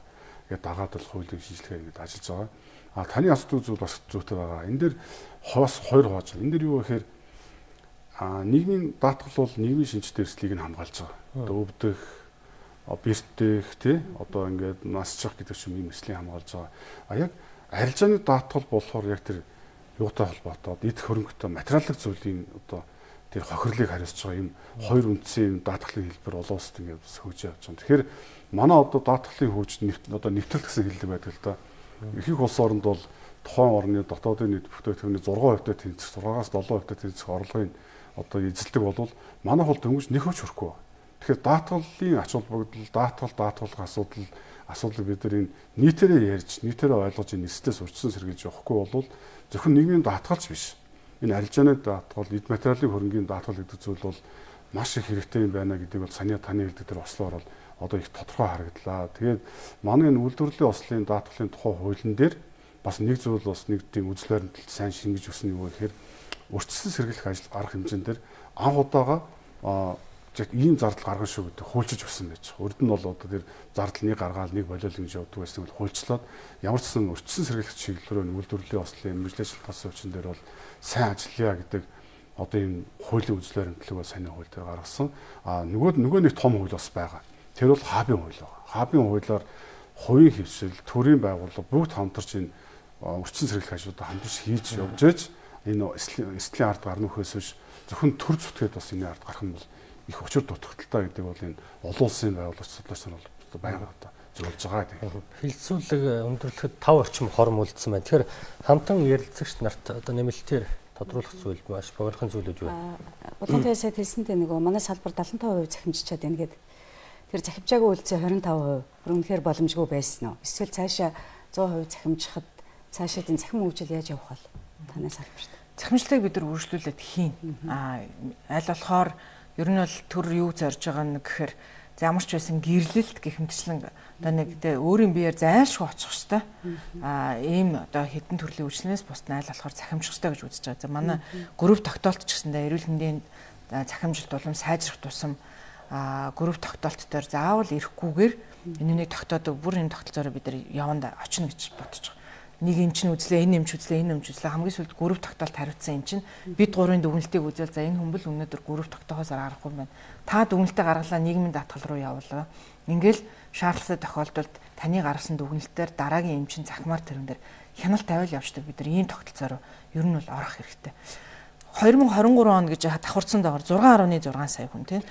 ингээд дагаад л хуулийн шинжилгээ ингээд ажиллаж байгаа. А таны асуудал зүйл бас зүйтэй байгаа. Энэ дээр хос хоёр хувааж байна. Энэ дээр юу гэхээр а нийгмийн даатгал бол нийгмийн шинжтэй эрсдлийг нь хамгаалж байгаа. Одоо өвдөх, бэртэх тий одоо ингээд насчих гэдэг юм эрсдлийг хамгаалж байгаа. А яг арилжааны даатгал болохоор яг тэр юутай холбоотой эд хөрөнгөтэй материалын зүйлийн одоо тэр хохирлыг хариуцж байгаа юм хоёр үндсэн юм даатгалын хэлбэр олон улсад ингээд хөгж явж байгаа. Тэгэхээр манай одоо даатгалын хөгж одоо нэвтрэлт гэсэн хэллэг байдаг л да. Их их улс оронд бол тухайн орны дотоодын нийт бүтээгдэхүүний зургаан хувьтай тэнцэх, зургаас долоон хувьтай тэнцэх орлогын одоо эзэлдэг бол манай хол дөнгөж нэг хөч хүрэхгүй. Тэгэхээр даатгалын ач холбогдол, даатгал даатгалах асуудал асуудлыг бид нар энэ нийтээрээ ярьж, нийтээрээ ойлгож энэ эсдээс урьдчилан сэргийлж явахгүй бол зөвхөн нийгмийн даатгалч биш. Энэ арилжааны даатгал, эд материалын хөрөнгийн даатгал гэдэг зүйл бол маш их хэрэгтэй юм байна гэдгийг бол саний таны хэлдэг дээр ослоор бол одоо их тодорхой харагдлаа. Тэгээд манай энэ үйлдвэрлэлийн ослын даатгалын тухай хуулийн дээр бас нэг зүйл бас нэг тийм үзэл баримталд сайн шингэж өгсөн юм гэхээр урьдчилан сэргийлэх ажил арга хэмжээнд дээр анх удаага яг ийм зардал гаргана шүү гэдэг хуульчиж өгсөн байж байгаа. Урд нь бол одоо тэр зардал нэг гаргаал нэг болиол ингэж явдаг байсан бол хуульчлаад ямар ч сан урьдчилан сэргийлэх чиглэлээр үйлдвэрлэлийн ослын мэргэжлийн тас өвчин дээр бол сайн ажиллая гэдэг одоо ийм хуулийн үзэл баримтлаг бол сайн хууль дээр гаргасан. А нөгөө нөгөө нэг том хууль бас байгаа. Тэр бол хабын хууль байгаа. Хабын хуулиар хувийн хэвшил, төрийн байгууллага бүгд хамтарч энэ урьдчилан сэргийлэх ажлуудаа хамтарч хийж явж ээж энэ эслийн ард гарна үхээс биш зөвхөн төр зүтгээд бас энэ ард гарах нь бол их учир дутагдaltaа гэдэг бол энэ олон улсын байгууллагч судлаач нар бол байнга одоо зөвлөж байгаа гэдэг. Хилцүүлэг өндөрлөхөд тав орчим хором үлдсэн байна. Тэгэхээр хамтан ярилцагч нарт одоо нэмэлтээр тодруулах зүйл маш богинохон зүйлүүд юу вэ? Бодлогын сайд хэлсэнтэй нөгөө манай салбар дадлан таван хувь захимжчаад байна гэдэг. Тэр захимжаагүй үйлцээ хорин таван хувь үнэхээр боломжгүй байсан уу? Эсвэл цаашаа зуун хувь захимжихад цаашаа энэ захим хөгжил яаж явах вэ? Танай салбарт. Захимжлалыг бид нар үргэлжлүүлээд хийн. Аа аль болохоор ер нь бол төр юу зорж байгаа нь гэхээр ямар ч байсан гэрлэлт гэх мэтчлэн одоо нэг тэ өөрийн биеэр зайлшгүй очих хэвээр аа ийм одоо хэдэн төрлийн үйлчлэнээс бус найл болохоор захимжих хэвээр гэж үзэж байгаа. За манай групп тогтоолт ч гэсэндээ эрүүл мэндийн захимжилт болон сайжрах тусам аа групп тогтоолт дээр заавал ирэхгүйгээр энэнийг тогтоодог бүр энэ тогтолцоороо бид нар яванд очно гэж бодож байгаа. Нэг юм чинь үзлээ, энэ юм ч үзлээ, энэ юм ч үзлээ. Хамгийн сүүлд групп тогтоолт хариуцсан юм чинь бид гурвын дүгнэлтийг үзэл за энэ хүмбэл өнөөдөр групп тогтоохоос аргагүй юм байна. Та дүгнэлтээ гаргалаа нийгмийн даатгал руу явуулаа. Ингээл шаардлагатай тохиолдолд таны гаргасан дүгнэлтээр дараагийн юм чинь захимаар тэрэн дээр хяналт тавиал явждаг. Бид нар ийм тогтолцоор ер нь бол орох хэрэгтэй. хоёр мың хорин гурван он гэж давхарцсан доогоор зургаан гаруй зургаан сая хүн тийм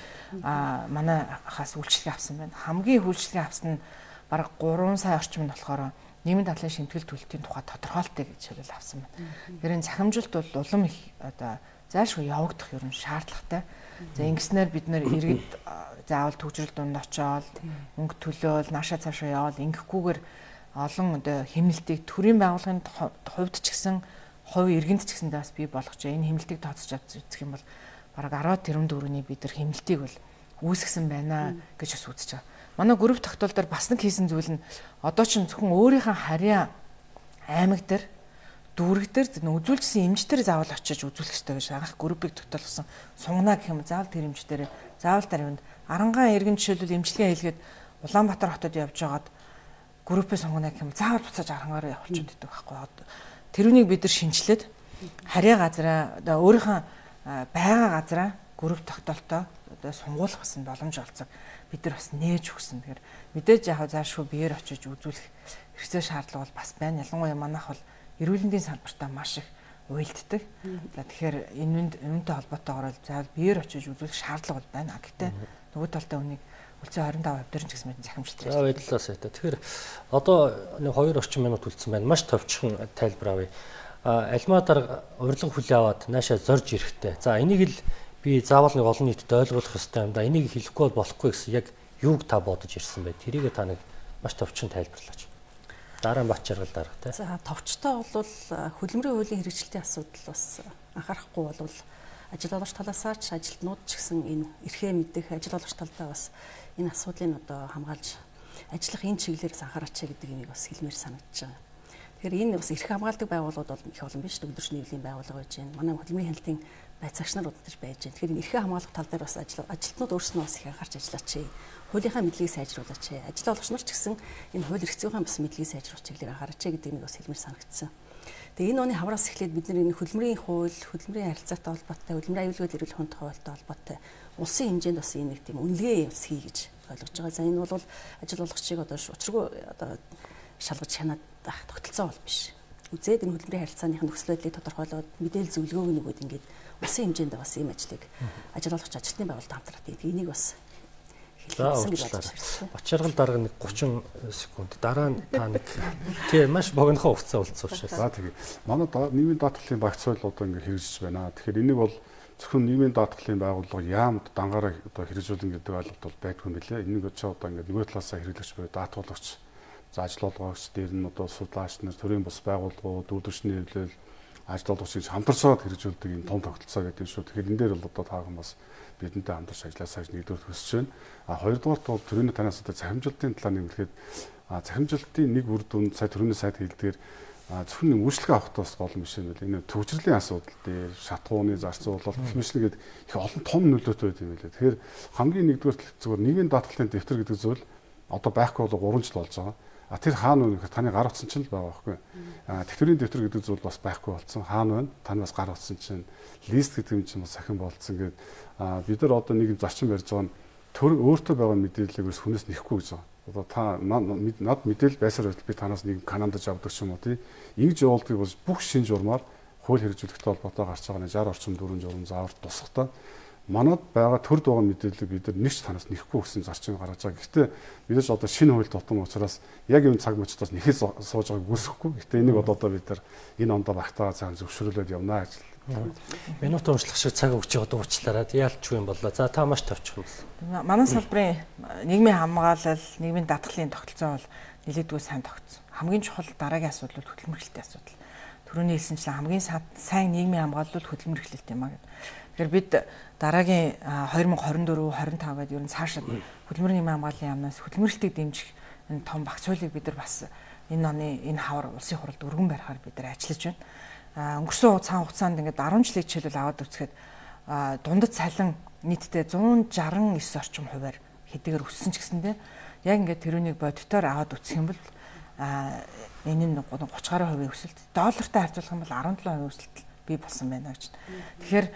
а манай хаас үйлчлэг авсан байна. Хамгийн үйлчлэг авсан нь бараг гурван сая орчим нь болохоор нийгмийн дадлын шимтгэл төлөлтийн тухай тодорхойлттой гэж хэлэл авсан байна. Тэр энэ цахимжилт бол улам их одоо зайлшгүй явагдах ер нь шаардлагатай. За ингэснээр бид нэр иргэд заавал төвчрөл дунд очоод мөнгө төлөөл наашаа цаашаа явал ингэхгүйгээр олон одоо хэмнэлтийг төрийн байгууллагын хувьд ч гэсэн хувь иргэнд ч гэсэндээ бас бий болгож энэ хэмнэлтийг тооцож авч үзэх юм бол бараг арваад тэрбум төгрөгийн бид нар хэмнэлтийг бол үүсгэсэн байна гэж бас үзэж байгаа. Манай групп тогтоол дээр бас нэг хийсэн зүйл нь одоо ч зөвхөн өөрийнхөө харьяа аймаг дээр дүүрэг дээр үзүүлжсэн эмчтэр заавал очиж үзүүлэх ёстой гэж анх группийг тогтоолгосон сунгана гэх юм заавал тэр эмчтэр заавал тариванд арангаан иргэн жишээлбэл эмчилгээ хийлгээд Улаанбаатар хотод явж байгаад группээ сунгана гэх юм заавал буцааж арангаараа явуулчиход идэв байхгүй. Тэрүүнийг бид нар шинжилээд харьяа газараа одоо өөрийнхөө байгаа газараа групп тогтоолтоо одоо сунгуулах бас боломж олцог бид нар бас нээж өгсөн. Тэгэхээр мэдээж яг заашгүй биеэр очиж үзүүлэх хэрэгцээ шаардлага бол бас байна. Ялангуяа манайх бол эрүүл мэндийн салбартаа маш их уйлддаг. За тэгэхээр энэ үүнтэй холбоотойгоор заавал биеэр очиж үзүүлэх шаардлага бол байна. Гэхдээ нөгөө талдаа үнийг үлцэн двадцать пять хувь дээр ч гэсэн мэт захимжилт байна. За баярлалаа сайта. Тэгэхээр одоо нэг хоёр орчим минут үлдсэн байна. Маш товчхон тайлбар авъя. Альмаа дарга урилга хүлээ аваад наашаа зорж ирэхтэй. За энийг л би заавал нэг олон нийтэд ойлгуулах хэрэгтэй юм да. Энийг хэлэхгүй бол болохгүй гэсэн яг юуг та бодож ирсэн бэ? Тэрийг та нэг маш товчхон тайлбарлаач. Дараа нь бач жаргал дарга тий. За товчтой бол хөдөлмөрийн хуулийн хэрэгжилтийн асуудал бас анхаарахгүй бол ажил олгогч талаасаа ч ажилтнууд ч гэсэн энэ эрхээ мэдэх ажил олгогч талдаа бас энэ асуудлыг одоо хамгаалж ажиллах энэ чиглэлээс анхаараач гэдэг юмыг бас хэлмээр санагдаж байгаа. Тэгэхээр энэ бас эрх хамгаалдаг байгууллагууд бол их олон биш өдөрч нийлэлийн байгууллага байж байна. Манай хөдөлмөрийн хяналтын байцаагч нар удаж байж байна. Тэгэхээр энэ эрхээ хамгаалах тал дээр бас ажилтнууд өөрсдөө бас их анхаарч ажиллаач. Хуулийнхаа мэдлэгийг сайжруулаач. Ажил олгогч нар ч гэсэн энэ хууль эрх зүйн бас мэдлэгийг сайжруулах чиглэлээр анхаарч гэдэг нэг бас хэлмээр санагдсан. Тэгээ энэ оны хавраас эхлээд бид нар энэ хөдөлмөрийн хууль, хөдөлмөрийн харилцаатай холбоотой, хөдөлмөрийн аюулгүй эрүүл мэндийн хуультай холбоотой улсын хэмжээнд бас энэ нэг тийм үнэлгээ явуулах хий гэж ойлгож байгаа. За энэ бол ажил олгогчийг одоо учиргүй одоо шалгаж хянаад ах тогтолцоо бол биш. Үзээд энэ хөдөлмөрийн харилцааных нөхцөл байдлыг тодорхойлоод мэдээлэл зөвлөгөөг нөгөөд ингээд улсын хэмжээнд бас ийм ажлыг ажил олгогч ажилтны байгууллагад хамтраад тэгээд энийг бас Бачаргал дарга нэг гучин секунд дараа нь та нэг тийм маш богинохоо хугацаа үлдсүүлчихсэн. За тэгээ. Манай нийгмийн даатгалын багц соёл одоо ингэ хэрэгжиж байна. Тэгэхээр энийг бол зөвхөн нийгмийн даатгалын байгууллага яамд дангаараа одоо хэрэгжүүлэн гэдэг ойлголт бол байдгүй юм билээ. Энийг ч одоо ингэ нөгөө талаасаа хэрэглэгч буюу даатгуулагч, за ажил олгогч, дээр нь одоо судлаач нар, төрийн бус байгууллагууд, үйлдвэрчний хэвлэл, ажил олгогчийг хамтарсаад хэрэгжүүлдэг энэ том тогтолцоо гэдэг юм шүү. Тэгэхээр энэ дээр бол одоо таахан бас бидэнтэй хамтарч ажилласаа гэж нэгдүгээр хүсэж байна. А хоёрдугаарт бол төрийн танаас одоо захимжилтын талаар нэмэхэд захимжилтын нэг үр дүн сая төрийн сайд хэлдгээр зөвхөн үйлчлэг авахтаас болон биш юм байна. Энэ төвчрлийн асуудал дээр шатгууны зарцуулалт хэмжлэгээд их олон том нөлөөтэй байт юм билээ. Тэгэхээр хамгийн нэгдүгээр зүгээр нийгмийн даатгалын дэвтэр гэдэг зүйл одоо байхгүй бол гурван жил болж байгаа. А тэр хаана вэ гэхээр таны гар утсан чинь л байгаа байхгүй. А тэтгэврийн дэвтэр гэдэг зүйл бас байхгүй болсон. Хаана вэ? Таны бас гар утсан чинь лист гэдэг юм чинь бас сахин болцсон гэдэг. А бид нар одоо нэг зарчим барьж байгаа нь төр өөртөө байгаа мэдээллийг бас хүнээс нэхгүй гэж байгаа. Одоо та над мэдээлэл байсаар байтал би танаас нэг канандаж авдаг ч юм уу тий. Ингэж явуулдгийг бол бүх шин журмаар хууль хэрэгжүүлэхтэй холбоотой гарч байгаа шестьдесят орчим дөрвөн журам заавар тусахтаа манад байгаа төрд байгаа мэдээллийг бид нар нэг ч танаас нэхгүй гэсэн зарчим гаргаж байгаа. Гэхдээ бидээс одоо шинэ хууль тутам учраас яг энэ цаг мөчтөөс нэхэл сууж байгааг үсэхгүй. Гэхдээ энийг одоо бид нар энэ ондоо багтаага цаан зөвшөөрүүлээд явна ажил. Минут уншлах шиг цаг өгч яваад уучлаарай. Яалчгүй юм боллоо. За та маш товчхон байна. Манай салбарын нийгмийн хамгаалал, нийгмийн даатгалын тогтолцоо бол нэлээдгүй сайн тогтсон. Хамгийн чухал дараагийн асуудал бол хөдөлмөр эрхлэлтийн асуудал. Түрүүний хэлсэнчлэн хамгийн сайн нийгмийн хамгаалал бол хөдөлмөр эрхлэлт юм аа гэдэг. Тэгэхээр бид дараагийн две тысячи двадцать четыре двадцать пять гэдэг ер нь цаашаа хөдөлмөрийн нийгмийн хамгааллын яамнаас хөдөлмөр эрхлэлтийг дэмжих энэ том багц соёлыг бид нар бас энэ оны энэ хавар улсын хуралд өргөн барихаар бид нар ажиллаж байна. Өнгөрсөн цагаан хугацаанд ингээд дөрвөн жилийн хичээлэл аваад үзэхэд дундад цалин нийтдээ one sixty-nine орчим хувиар хэдийгээр өссөн ч гэсэндээ яг ингээд тэрүүнийг бодитоор аваад үзэх юм бол энэ нь thirty гаруй хувийн өсөлт, доллартай харьцуулах юм бол seventeen хувийн өсөлт бий болсон байна гэж. Тэгэхээр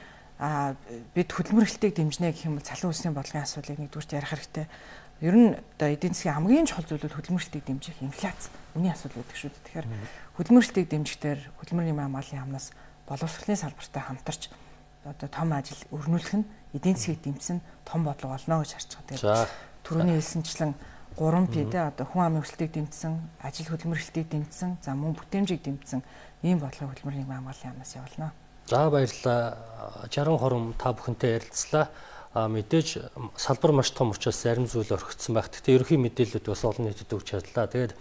бид хөдөлмөр эрхлэлтийг дэмжнэ гэх юм бол цалин үсгийн бодлогын асуудлыг нэгдүгürt ярих хэрэгтэй. Ер нь одоо эдийн засгийн хамгийн чухал зүйл бол хөдөлмөр эрхлэлтийг дэмжих инфляц, үнийн асуудал гэдэг шүү дээ. Тэгэхээр хөдөлмөр эрхлэлтийг дэмжихдээ хөдөлмөрийн нийгмийн хамгааллын яамнаас боловсролын салбартай хамтарч одоо том ажил өрнүүлэх нь эдийн засгийг дэмжсэн том бодлого болно гэж харж байгаа. Тэгээд түрүүний хэлсэнчлэн гурван П тэ одоо хүн амын өсөлтийг дэмжсэн, ажил хөдөлмөр эрхлэлтийг дэмжсэн, за мөн бүтээмжийг дэмжсэн ийм бодлого хөдөлмөр нийгмийн хамгааллын яамнаас явуулна. За баярлалаа. жаргал хором та бүхэнтэй ярилцлаа. А мэдээж салбар маш том учраас зарим зүйл орхигдсон байх. Гэхдээ ерөнхий мэдээлэлүүд бас олон нийтэд өгч чадлаа. Тэгээд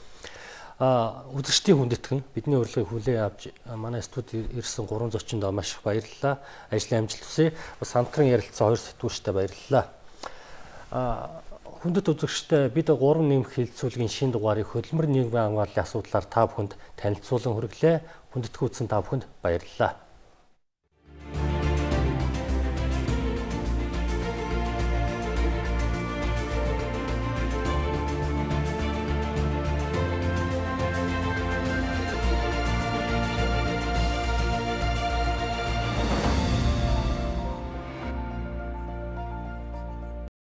а үзэгчдийн хүндэтгэн бидний урилгыг хүлээн авч манай студид ирсэн гурван зочинд маш их баярлалаа. Ажлын амжилт хүсье. Бас хамтран ярилцсан хоёр сэтгүүлчтэй баярлалаа. А хүндэт үзэгчтэй бид гурван нэмэх хэлэлцүүлгийн шинэ дугаарыг хөдөлмөр нийгмийн хамгааллын асуудлаар та бүхэнд танилцуулан хүргэлээ. Хүндэтгэн үзсэн та бүхэнд баярлалаа.